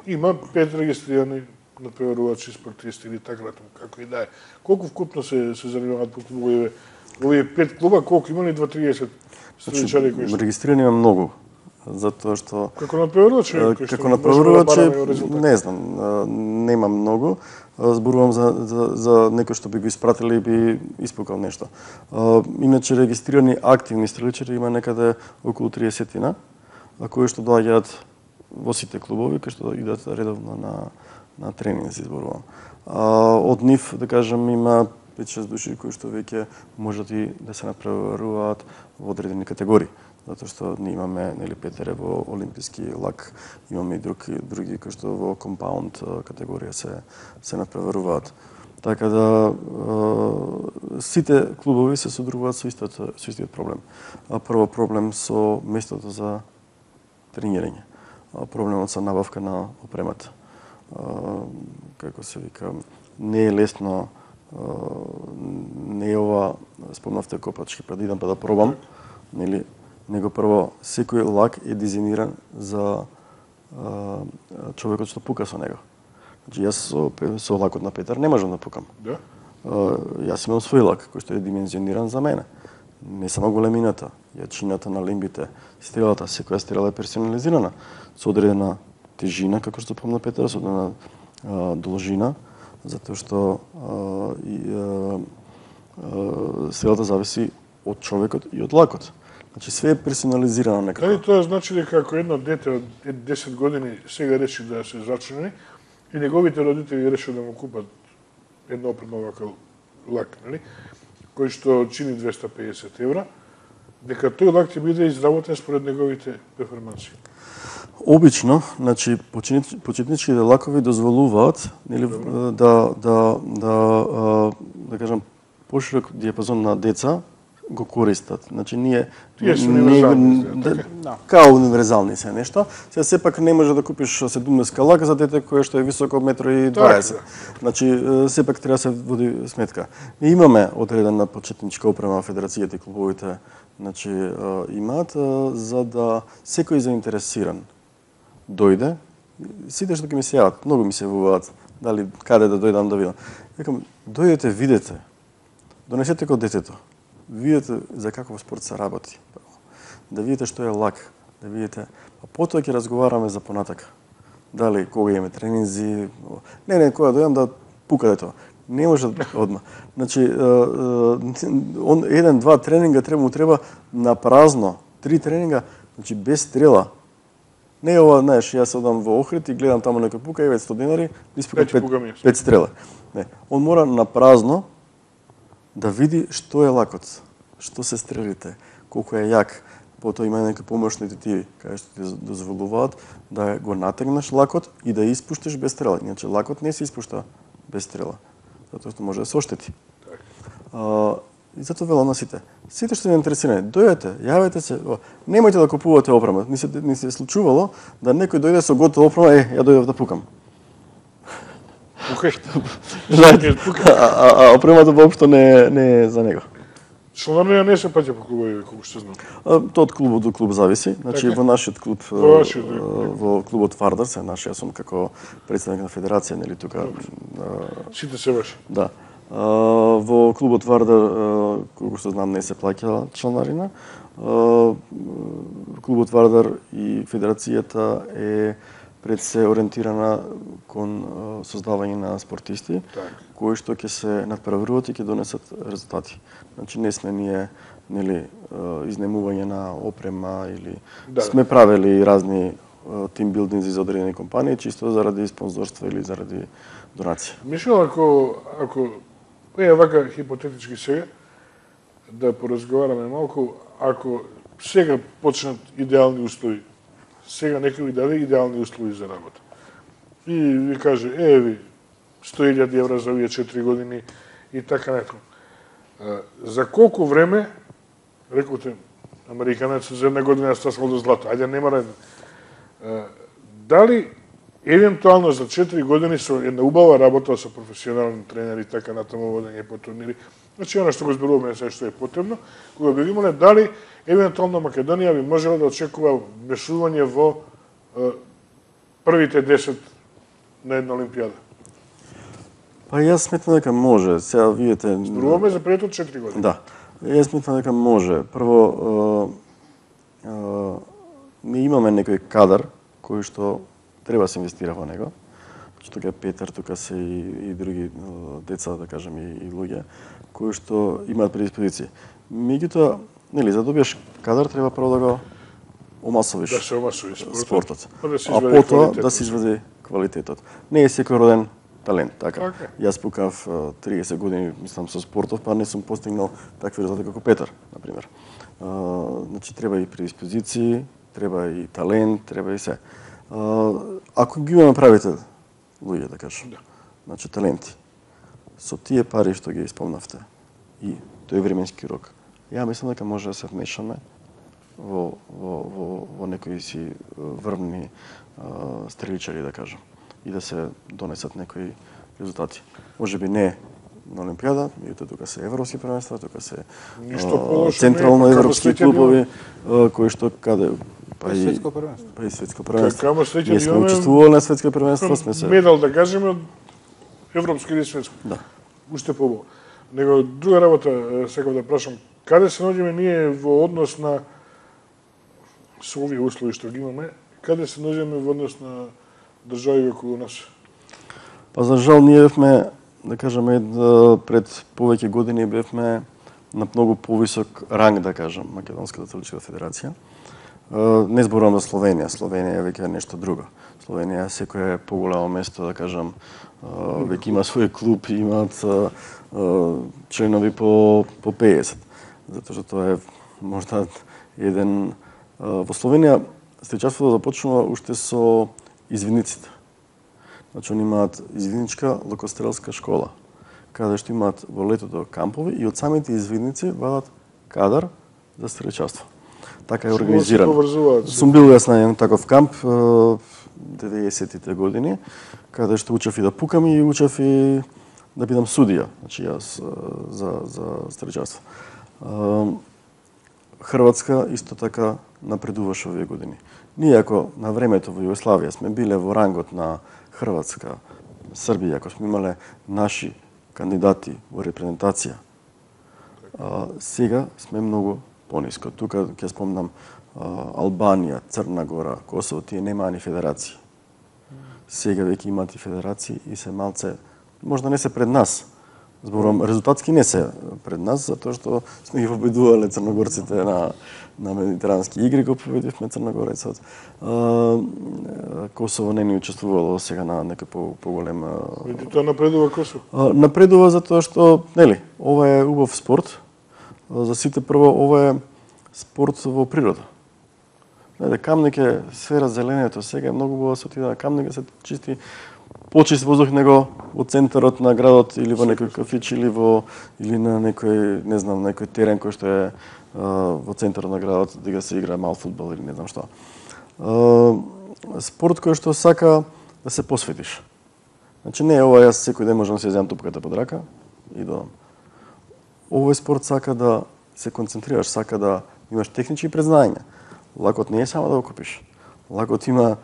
Има пет регистрирани надпреварувачи спортисти или така натаму, како и да е. Колку вкупно се се занимаваат по клубовите? Овие пет клуба, колку има ли два триесет стреличари кои што? Регистрирани има многу. Затоа што како надпреварувач, како надпреварувач, не знам, нема многу. Зборувам за за за некој што би го испратиле и би испукал нешто. Иначе регистрирани активни стреличари има некаде околу триесет. кои што доаѓаат во сите клубови, кои што идат редовно на на тренинг, се изборувам. А, од нив, да кажем, има пет-шест души кои што веќе можат и да се напреваруваат во одредени категории. Затоа што ние имаме, нели, петере во олимписки лак, имаме и други, други кои што во компаунд категорија се се напреваруваат. Така да е, сите клубови се содружуваат со истиот со истиот проблем. А прво проблем со местото за тренирање. А проблемот со набавка на опремата. А, како се вика, не е лесно, а, не е ова, спомнавте копачки, па да идам па да пробам, нели, него прво секој лак е дизајниран за а, човекот што пука со него. Значи јас со, со лакот на Петар не можам да пукам. Да? А, јас имам свој лак кој што е димензиониран за мене. Не само големината, јачината на лимбите, стрелата, секоја стрела е персонализирана со одредена тежина, како што помна Петар, со одредена а, должина, затоа што а, и, а, а, стрелата зависи од човекот и од лакот. Значи све е персонализирано некако. Дали тоа значи дека ако едно дете од десет години сега реши да се зачини и неговите родители решат да му купат едно опрема вака лак, нели, кој што чини двеста и педесет евра, дека тој лак ќе биде изработен според неговите перформанси. Обично, значи почетничките лакови дозволуваат, нели, да да да да кажам поширок диапазон на деца го користат. Значи ние Тие се универзални, да, да. Као универзални се нешто. Сега сепак не може да купиш седумдесет лак за дете кое што е високо едно и дваесет. Значи сепак треба да се води сметка. И имаме одредена почетничка опрема федерацијата и клубовите, значи имаат за да секој заинтересиран дојде, сите што ќе ми се јават, многу ми се јавуваат, дали каде да дојдам да видам. Викам, дојдете, видете. Донесете го детето. Видете за каков спорт се работи. Да видите што е лак, да видите, а потоа ќе разговараме за понатака. Дали кога имаме тренинзи, не, не, кога дојдам да пука дето. Не може одма. Значи, он еден, два тренинга треба му треба на празно, три тренинга, значи без стрела. Не е ова, знаеш, јас одам во Охрид и гледам таму некој пука и петстотини денари, испука пет, пет стрела. Не, он мора на празно да види што е лакот, што се стрелите, колку е јак. Потоа има некои помошни тетиви, кај што ти дозволуваат да го натегнеш лакот и да испуштиш без стрела. Иначе лакот не се испушта без стрела, затоа што може да се оштети. А, и затоа велам на сите. Сите што се интересирани, дојдете, јавете се, о, немојте да купувате опрема. Ни се, ни се случувало да некој дојде со готова опрема, е, ја дојдов да пукам. Пукаш? Знаете, а, а, а опремата воопшто не, не е за него. Членарија не се паќа по клубови, колку што знам. А, тоа од клубот до клуб зависи. Значи така? Во нашиот клуб, во, вашиот, во клубот Вардар, се наш, јас сум како претседник на федерација, нели тука. Сите се ваши. Да. А, во клубот Вардар, колку што знам, не се плаќа членарина. А, клубот Вардар и федерацијата е пред се ориентирана кон создавање на спортисти, так, кои што ќе се надпреваруваат и ќе донесат резултати. Значи не сме ние, нели, изнемување на опрема или да, сме правели разни тимбилдинзи за одредени компании чисто заради спонзорство или заради донација. Мислам, ако ако е вака хипотетички сега да поразговараме малку, ако сега почнат идеални услови, сега некој ви даде идеални услови за работа. И ви каже, е, ви, сто илјади евра за овие четири години и така нето. За колку време, рекоте, американец за една година стасал до злато, ајде не мора една. Дали евентуално за четири години со една убава работа со професионални тренери и така натаму водење по турнири, значи она што го зборуваме се што е потребно, кога би имале дали евентуално Македонија би можела да очекува вмешување во е, првите десет на една олимпијада? Па јас сметам дека може. Сега видите, зборуваме за пред од четири години. Да. Јас сметам дека може. Прво е, е, ми имаме некој кадар кој што треба да се инвестира во него. Тука е Петар, тука се и, и други деца, да кажем, и, и луѓе кои што имаат предиспозиции. Меѓутоа, нели, за да добиеш кадар треба прво да го омасовиш да се омасови спортот, спортот. па да се А извади потоа квалитетот. да се извади квалитетот. Не е секој роден талент, така. Така. Јас пукав а, триесет години, мислам, со спортов, па не сум постигнал такви резултати како Петар, на пример. А, значи треба и предиспозиции, треба и талент, треба и се. А, ако ги имаме правите луѓе, да кажам, Да. значи таленти, со тие пари што ги исполнавте и тој временски рок, ја мислам дека може да се вмешаме во, во, во, во некои си врвни а, стреличари, да кажам, и да се донесат некои резултати. Може би не на Олимпијада, меѓутоа тука се европски првенства, тука се Ништо а, полошо централно не е, па европски како среќа клубови, а, кои што каде па и Светско првенство. па и светско првенство. Како среќа Ние сме имаме учествувале на светско првенство, сме се медал, да кажеме, од европски или светско. Да. Уште побо. Него друга работа е, сакам да прашам, каде се наоѓаме ние во однос на со овие услови што ги имаме, каде се наоѓаме во однос на држави околу нас? Па за жал ние бевме, да кажеме, да, пред повеќе години бевме на многу повисок ранг, да кажам, Македонската атлетичка федерација. Е, Не зборувам за Словенија, Словенија е веќе нешто друго. Словенија секое поголемо место, да кажам, е, веќе има свој клуб, имаат е, е, членови по по пеесет. Затоа што тоа е можда еден е, во Словенија стрелчарството започнува уште со извидниците. Значи, они имаат извидничка лукострелска школа, каде што имаат во летото кампови и од самите извидници вадат кадар за стрелчарство. Така е Што организирано. се поврзуваат? Сум бил јас на еден таков камп е, деветдесетите години, каде што учев и да пукам и учев и да бидам судија, значи јас е, за за стрелчарство. Е, Хрватска исто така напредуваше овие години. Ние ако на времето во Југославија сме биле во рангот на Хрватска, Србија, ако сме имале наши кандидати во репрезентација, а, сега сме многу пониско. Тука ќе спомнам а, Албанија, Црна Гора, Косово, тие немаа ни федерации. Сега веќе имаат и федерации и се малце, можда не се пред нас, зборувам, резултатски не се пред нас, затоа што сме ги победувале црногорците на на медитерански игри, го победивме Црногорецот. Косово не ни учествувало сега на некој по поголем. Види, тоа напредува Косово. А, напредува затоа што, нели, ова е убав спорт. За сите прво, ова е спорт во природа. Знаете, Камник е сфера зеленето, сега е многу убаво да се отиде на Камник, да се чисти почист воздух него во центарот на градот или во некој кафич или во или на некој, не знам, некој терен кој што е а, во центарот на градот да се игра мал фудбал или не знам што. А, спорт кој што сака да се посветиш. Значи не е ова јас секој ден можам да се земам тупката под рака и додам. Овој спорт сака да се концентрираш, сака да имаш технички предзнања. Лакот не е само да го купиш. Лакот има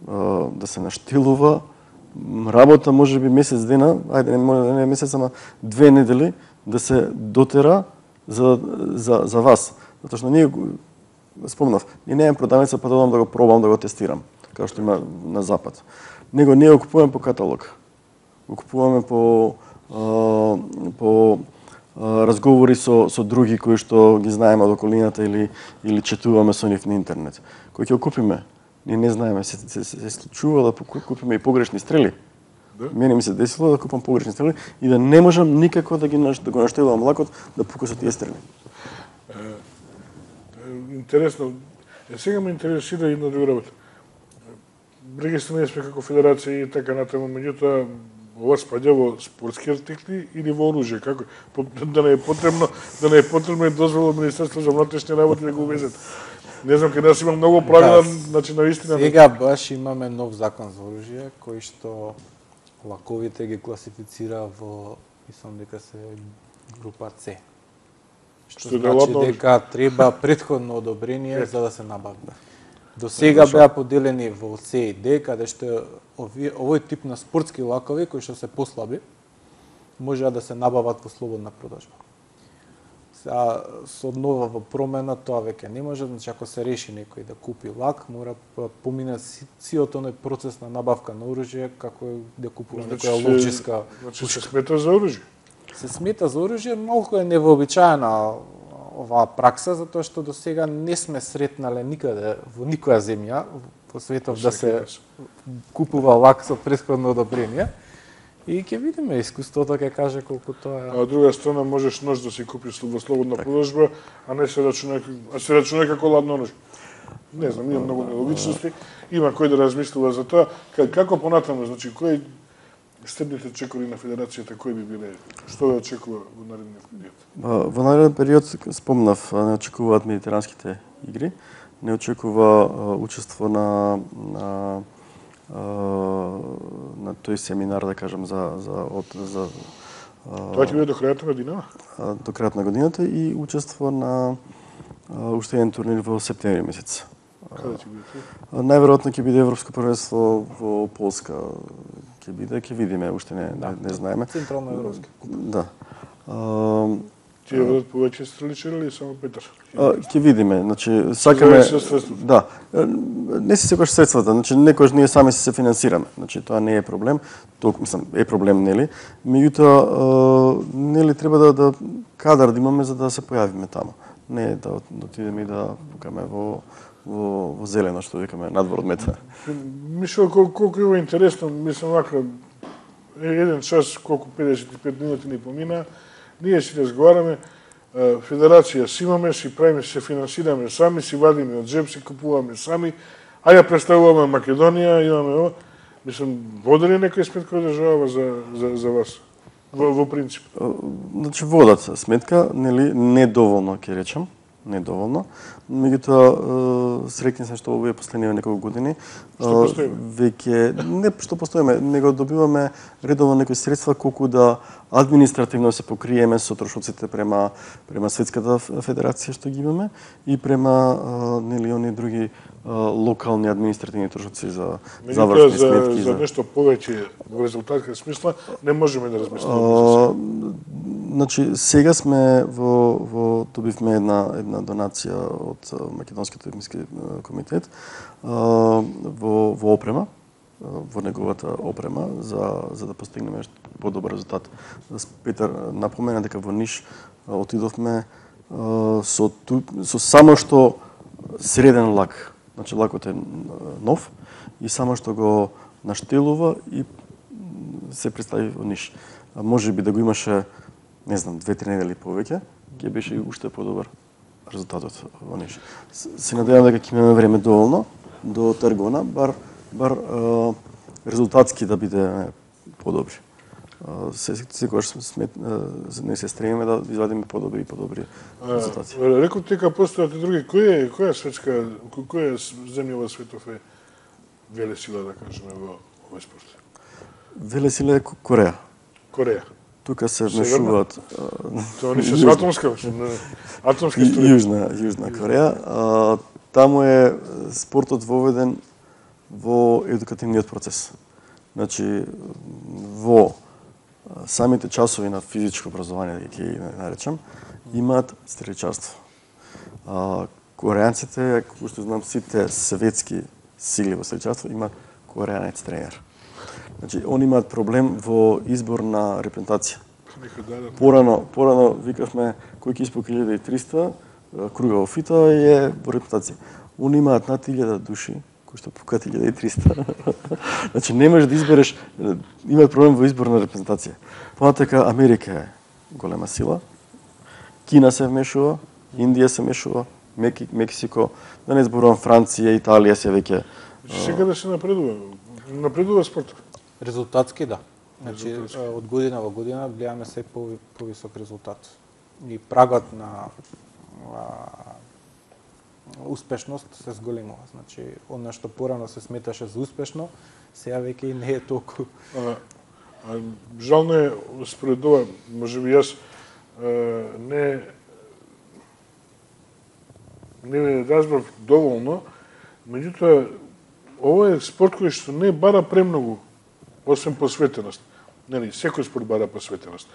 а, да се наштилува, работа може би месец дена, ајде не може да не е месец, ама две недели да се дотера за за за вас. Затоа што ние спомнав, ние немаме продавница па да одам да го пробам, да го тестирам, како што има на запад. Него ние го купуваме по каталог. Го купуваме по а, по а, разговори со со други кои што ги знаеме од околината или или четуваме со нив на интернет. Кој ќе го купиме? Ние не знаеме, се, се, се, се случува да купиме и погрешни стрели. Да? Мене ми се десило да купам погрешни стрели и да не можам никако да ги да го наштелувам лакот да пука со тие стрели. Е, е, интересно. Е, сега ме интересира една друга работа. Регистрирани сме како федерација и така натаму, меѓутоа ова спаѓа во спортски артикли или во оружје, како да не е потребно, да не е потребно и дозвола од Министерството за внатрешни работи да го увезат. Не знам, каде нас има многу правила, да, значи навистина. Сега баш имаме нов закон за оружје кој што лаковите ги класифицира во, мислам дека се група С. Што, што значи дека треба претходно одобрение за да се набават. До сега беа поделени во С и Д, каде што ови, овој тип на спортски лакови кои што се послаби можеа да се набават во слободна продажба. А со нова промена тоа веќе не може, значи ако се реши некој да купи лак, мора помине сиот оној процес на набавка на оружје како да купува значи, некоја ловчиска. Значи се смета за оружје. Се смета за оружје, малку е невообичаена оваа пракса, затоа што до сега не сме сретнале никаде во никоја земја по светов да се купува лак со претходно одобрение. И ќе видиме, искуството ќе каже колку тоа е. А од друга страна можеш нож да си купиш во слободна продажба, а не се рачуна, а се рачуна како ладно нож. Не знам, има многу нелогичности. Има кој да размислува за тоа. Како понатаму, значи кој стебните чекори на федерацијата кои би биле? Што да очекува во наредниот период? Во наредниот период спомнав, не очекуваат медитеранските игри, не очекува учество на на на тој семинар, да кажам, за за од за Тоа ќе биде до крајот на годината? До крајот на годината и учество на уште еден турнир во септември месец. Каде ќе биде тоа? Најверојатно ќе биде Европско првенство во Полска. Ќе биде, ќе видиме, уште не не, не знаеме. Централно европски. Да. Ќе бидат повеќе стреличари или само Петар? Ќе видиме, значи сакаме да. Не се секогаш средствата, значи некогаш ние сами се финансираме. Значи тоа не е проблем, толку мислам е проблем, нели? Меѓутоа нели треба да да кадар да имаме за да се појавиме таму. Не да отидеме и да покаме во во во зелено, што викаме, надвор од мета. Мислам колку, колку е интересно, мислам вака еден час колку педесет и пет минути ни помина. Ние си разговараме, федерација си имаме, си правиме, се финансираме сами, си вадиме од джеб, си купуваме сами, а ја представуваме Македонија, имаме ова. Мислам, води ли некој сметка одржава за, за, за вас? Во, во принцип. Значи водат сметка, нели, недоволно ќе речам, недоволно. Меѓутоа среќен сум што овие последниве неколку години што постоиме? Веќе не што постоиме, него добиваме редовно некои средства колку да административно се покриеме со трошоците према према светската федерација што ги имаме и према нели они други локални административни трошоци за завршни за, сметки за нешто повеќе во резултатска смисла не можеме да размислиме. Значи сега сме во во добивме една една донација од Македонскиот олимписки комитет во во опрема, во неговата опрема за за да постигнеме подобар резултат. Петар напомена дека во Ниш отидовме со ту, со само што среден лак. Значи лакот е нов и само што го наштелува и се представи во Ниш. А може би да го имаше, не знам, две-три недели повеќе, ќе беше уште подобар резултатот во Ниш. Се надевам дека ќе имаме време доволно до Таргона, бар бар е, резултатски да биде подобри. Се секогаш сме не се стремиме да извадиме подобри и подобри резултати. Реков дека постојат и други. Која е која светска која земја во светов е велесила, да кажеме, во овој спорт? Велесила е Кореја. Кореја. Тука се вмешуваат Тоа не се атомска, атомски струи. Јужна, Јужна Кореја. Таму е спортот воведен во едукативниот процес. Значи во самите часови на физичко образование, да ќе ги наречам, имаат стреличарство. Корејанците, како што знам, сите светски сили во стреличарство имаат корејанец тренер. Значи, они имаат проблем во избор на репрезентација. Порано, порано викавме кој ќе испока илјада и триста, круга во фита е во репрезентација. Они имаат над илјада души кои што пукаат илјада и триста. Значи не можеш да избереш, имаат проблем во избор на репрезентација. Понатака Америка е голема сила, Кина се вмешува, Индија се вмешува, Мексико, да не зборувам Франција, Италија се веќе. Сега да се напредува, напредува спортот. Резултатски да. Значи од година во година гледаме се по повисок резултат. И прагот на а, успешност се зголемува. Значи она што порано се сметаше за успешно, сега веќе и не е толку. А, а, жално е според ова, можеби јас а, не не разбрав доволно, меѓутоа ова е спорт кој што не бара премногу, освен посветеност. Нели, секој спорт бара посветеност.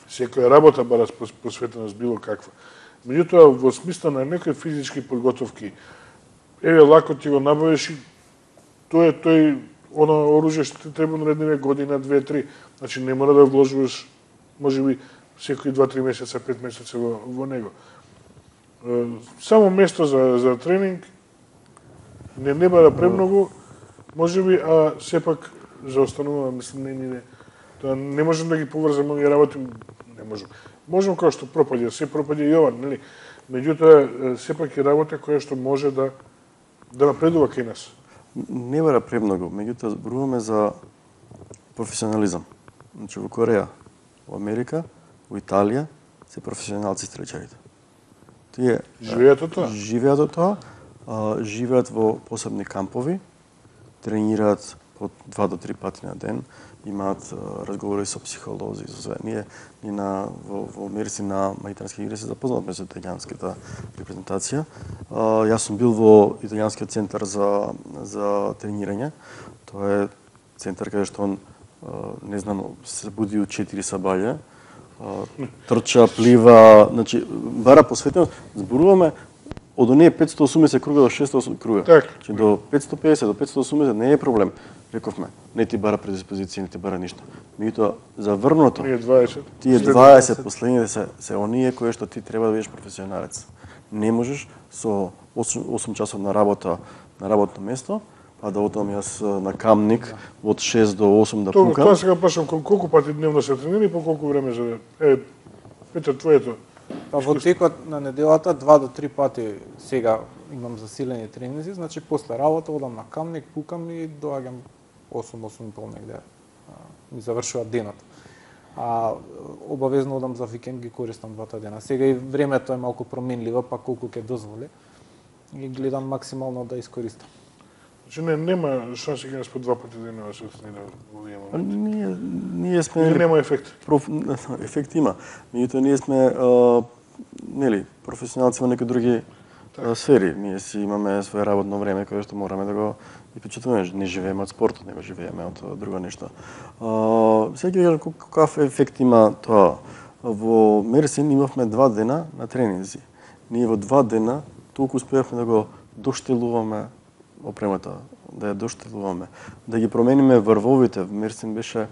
Секоја работа бара посветеност било каква. Меѓутоа, во смисла на некои физички подготовки, еве лакот ти го набавиш и тоа е тој оно оружје што ти треба наредниве година, две, три. Значи не мора да вложуваш можеби секои два-три месеца, пет месеца во, во него. само место за за тренинг не не бара премногу, можеби, а сепак заостанува, мислам, не не тоа не можем да ги поврзаме овие работи, не можем. Можем кој што пропаѓа, се пропаѓа Јован, нели? Меѓутоа сепак е работа која што може да да напредува кај нас. Не бара премногу, меѓутоа зборуваме за професионализам. Значи во Кореја, во Америка, во Италија се професионалци стрелчарите. Тие живеат од тоа. Живеат од тоа, а, живеат во посебни кампови, тренираат по два до три пати на ден, имаат а, разговори со психолози, со све. Ние ни на во, во Америци на Магитрански игри се запознавме со италијанската репрезентација. А, јас сум бил во италијанскиот центар за за тренирање. Тоа е центар каде што он а, не знам, се буди од четири сабаља, трча, плива, значи бара посветено, зборуваме од оние петстотини и осумдесет круга до шестстотини и осумдесет круга. Так. Значи до петстотини и педесет до петстотини и осумдесет не е проблем. Рековме, не ти бара предиспозиција, не ти бара ништо. Меѓутоа за врвното, Ние дваесет. тие дваесет последните се се оние кои што ти треба да бидеш професионалец. Не можеш со осум часов на работа на работно место, па да одам јас на Камник од шест до осум да Тоа, пукам. тоа сега прашам колку пати дневно се тренира и по колку време за е Петар, твоето. Па во текот на неделата два до три пати сега имам засилени тренинзи, значи после работа одам на Камник, пукам и доаѓам осум осум и пол негде. Ми завршува денот. А обавезно одам за викенд, ги користам двата дена. Сега и времето е малку променливо, па колку ќе дозволи. И гледам максимално да искористам. Значи не нема шанси кога по два пати денева се тренира во овие моменти. Ние ние сме Или нема ефект. Проф... ефект има. Меѓутоа ние сме а, нели професионалци во некои други а, сфери. Ние си имаме свое работно време кое што мораме да го и почитуваме. Не живееме од спортот, него живееме од друго нешто. А, сега ќе кажам каков ефект има тоа. Во Мерсин имавме два дена на тренинзи. Ние во два дена толку успеавме да го доштелуваме опремата, да ја доштелуваме, да ги промениме врвовите. Мерсин беше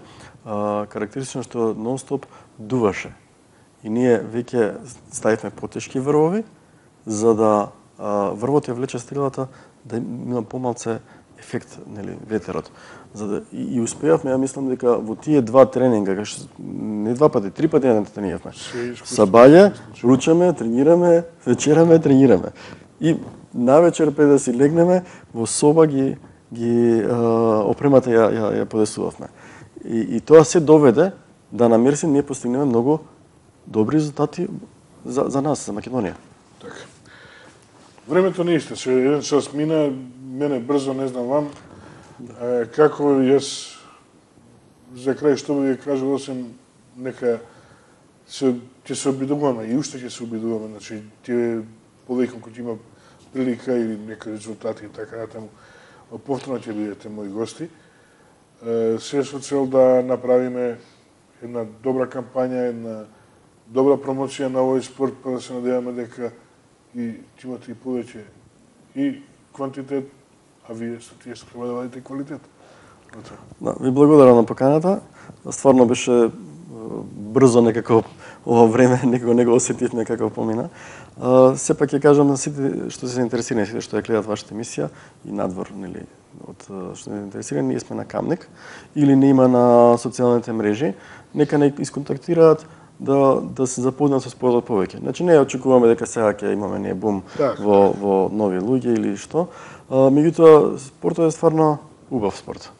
а, карактеристично што нон-стоп дуваше. И ние веќе ставивме потешки врвови, за да а, врвот ја влече стрелата да има помалце ефект, нели, ветерот. За да и, и успеавме, ја мислам дека во тие два тренинга, кај не два пати, три пати на тренираме. Сабаје, ручаме, тренираме, вечераме, тренираме. И навечер пред да си легнеме во соба ги ги а, опремата ја ја ја подесувавме. И и тоа се доведе да на Мерсин ние постигнеме многу добри резултати за за нас, за Македонија. Така. Времето не истече, еден час мина, мене брзо, не знам вам. Да. Како јас за крај што би ја кажал, осем нека се ќе се обидуваме и уште ќе се обидуваме, значи тие повеќе кои има прилика или некои резултати и така натаму, повторно ќе бидете мои гости. Се со цел да направиме една добра кампања, една добра промоција на овој спорт, па да се надеваме дека и ќе имате и повеќе и квантитет, а вие со тие што треба да вадите квалитет. Да, ви благодарам на поканата. Стварно беше брзо некако ова време, некако не го осетивме како помина. Uh, сепак ќе кажам на сите што се интересирани, сите што ја гледаат вашата емисија и надвор, нели, од што се интересирани, ние сме на Камник или не има на социјалните мрежи, нека не исконтактираат да да се запознаат со спортот повеќе. Значи не очекуваме дека сега ќе имаме не бум так, во во нови луѓе или што. Uh, меѓутоа спортот е стварно убав спорт.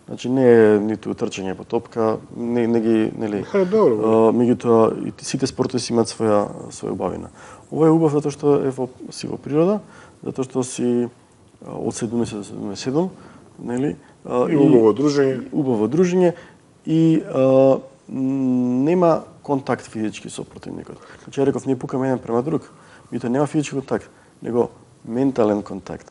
Значи не е ниту трчање по топка, не, не ги, нели, Е, добро. меѓутоа и сите спортови си имаат своја своја убавина. Ова е убав затоа што е во си во природа, затоа што си од седумдесет до седумдесет и седум, нели? И убаво дружење. Убаво дружење и а, нема контакт физички со противникот. Значи ја реков, ние пукаме еден према друг, меѓутоа нема физички контакт, него ментален контакт.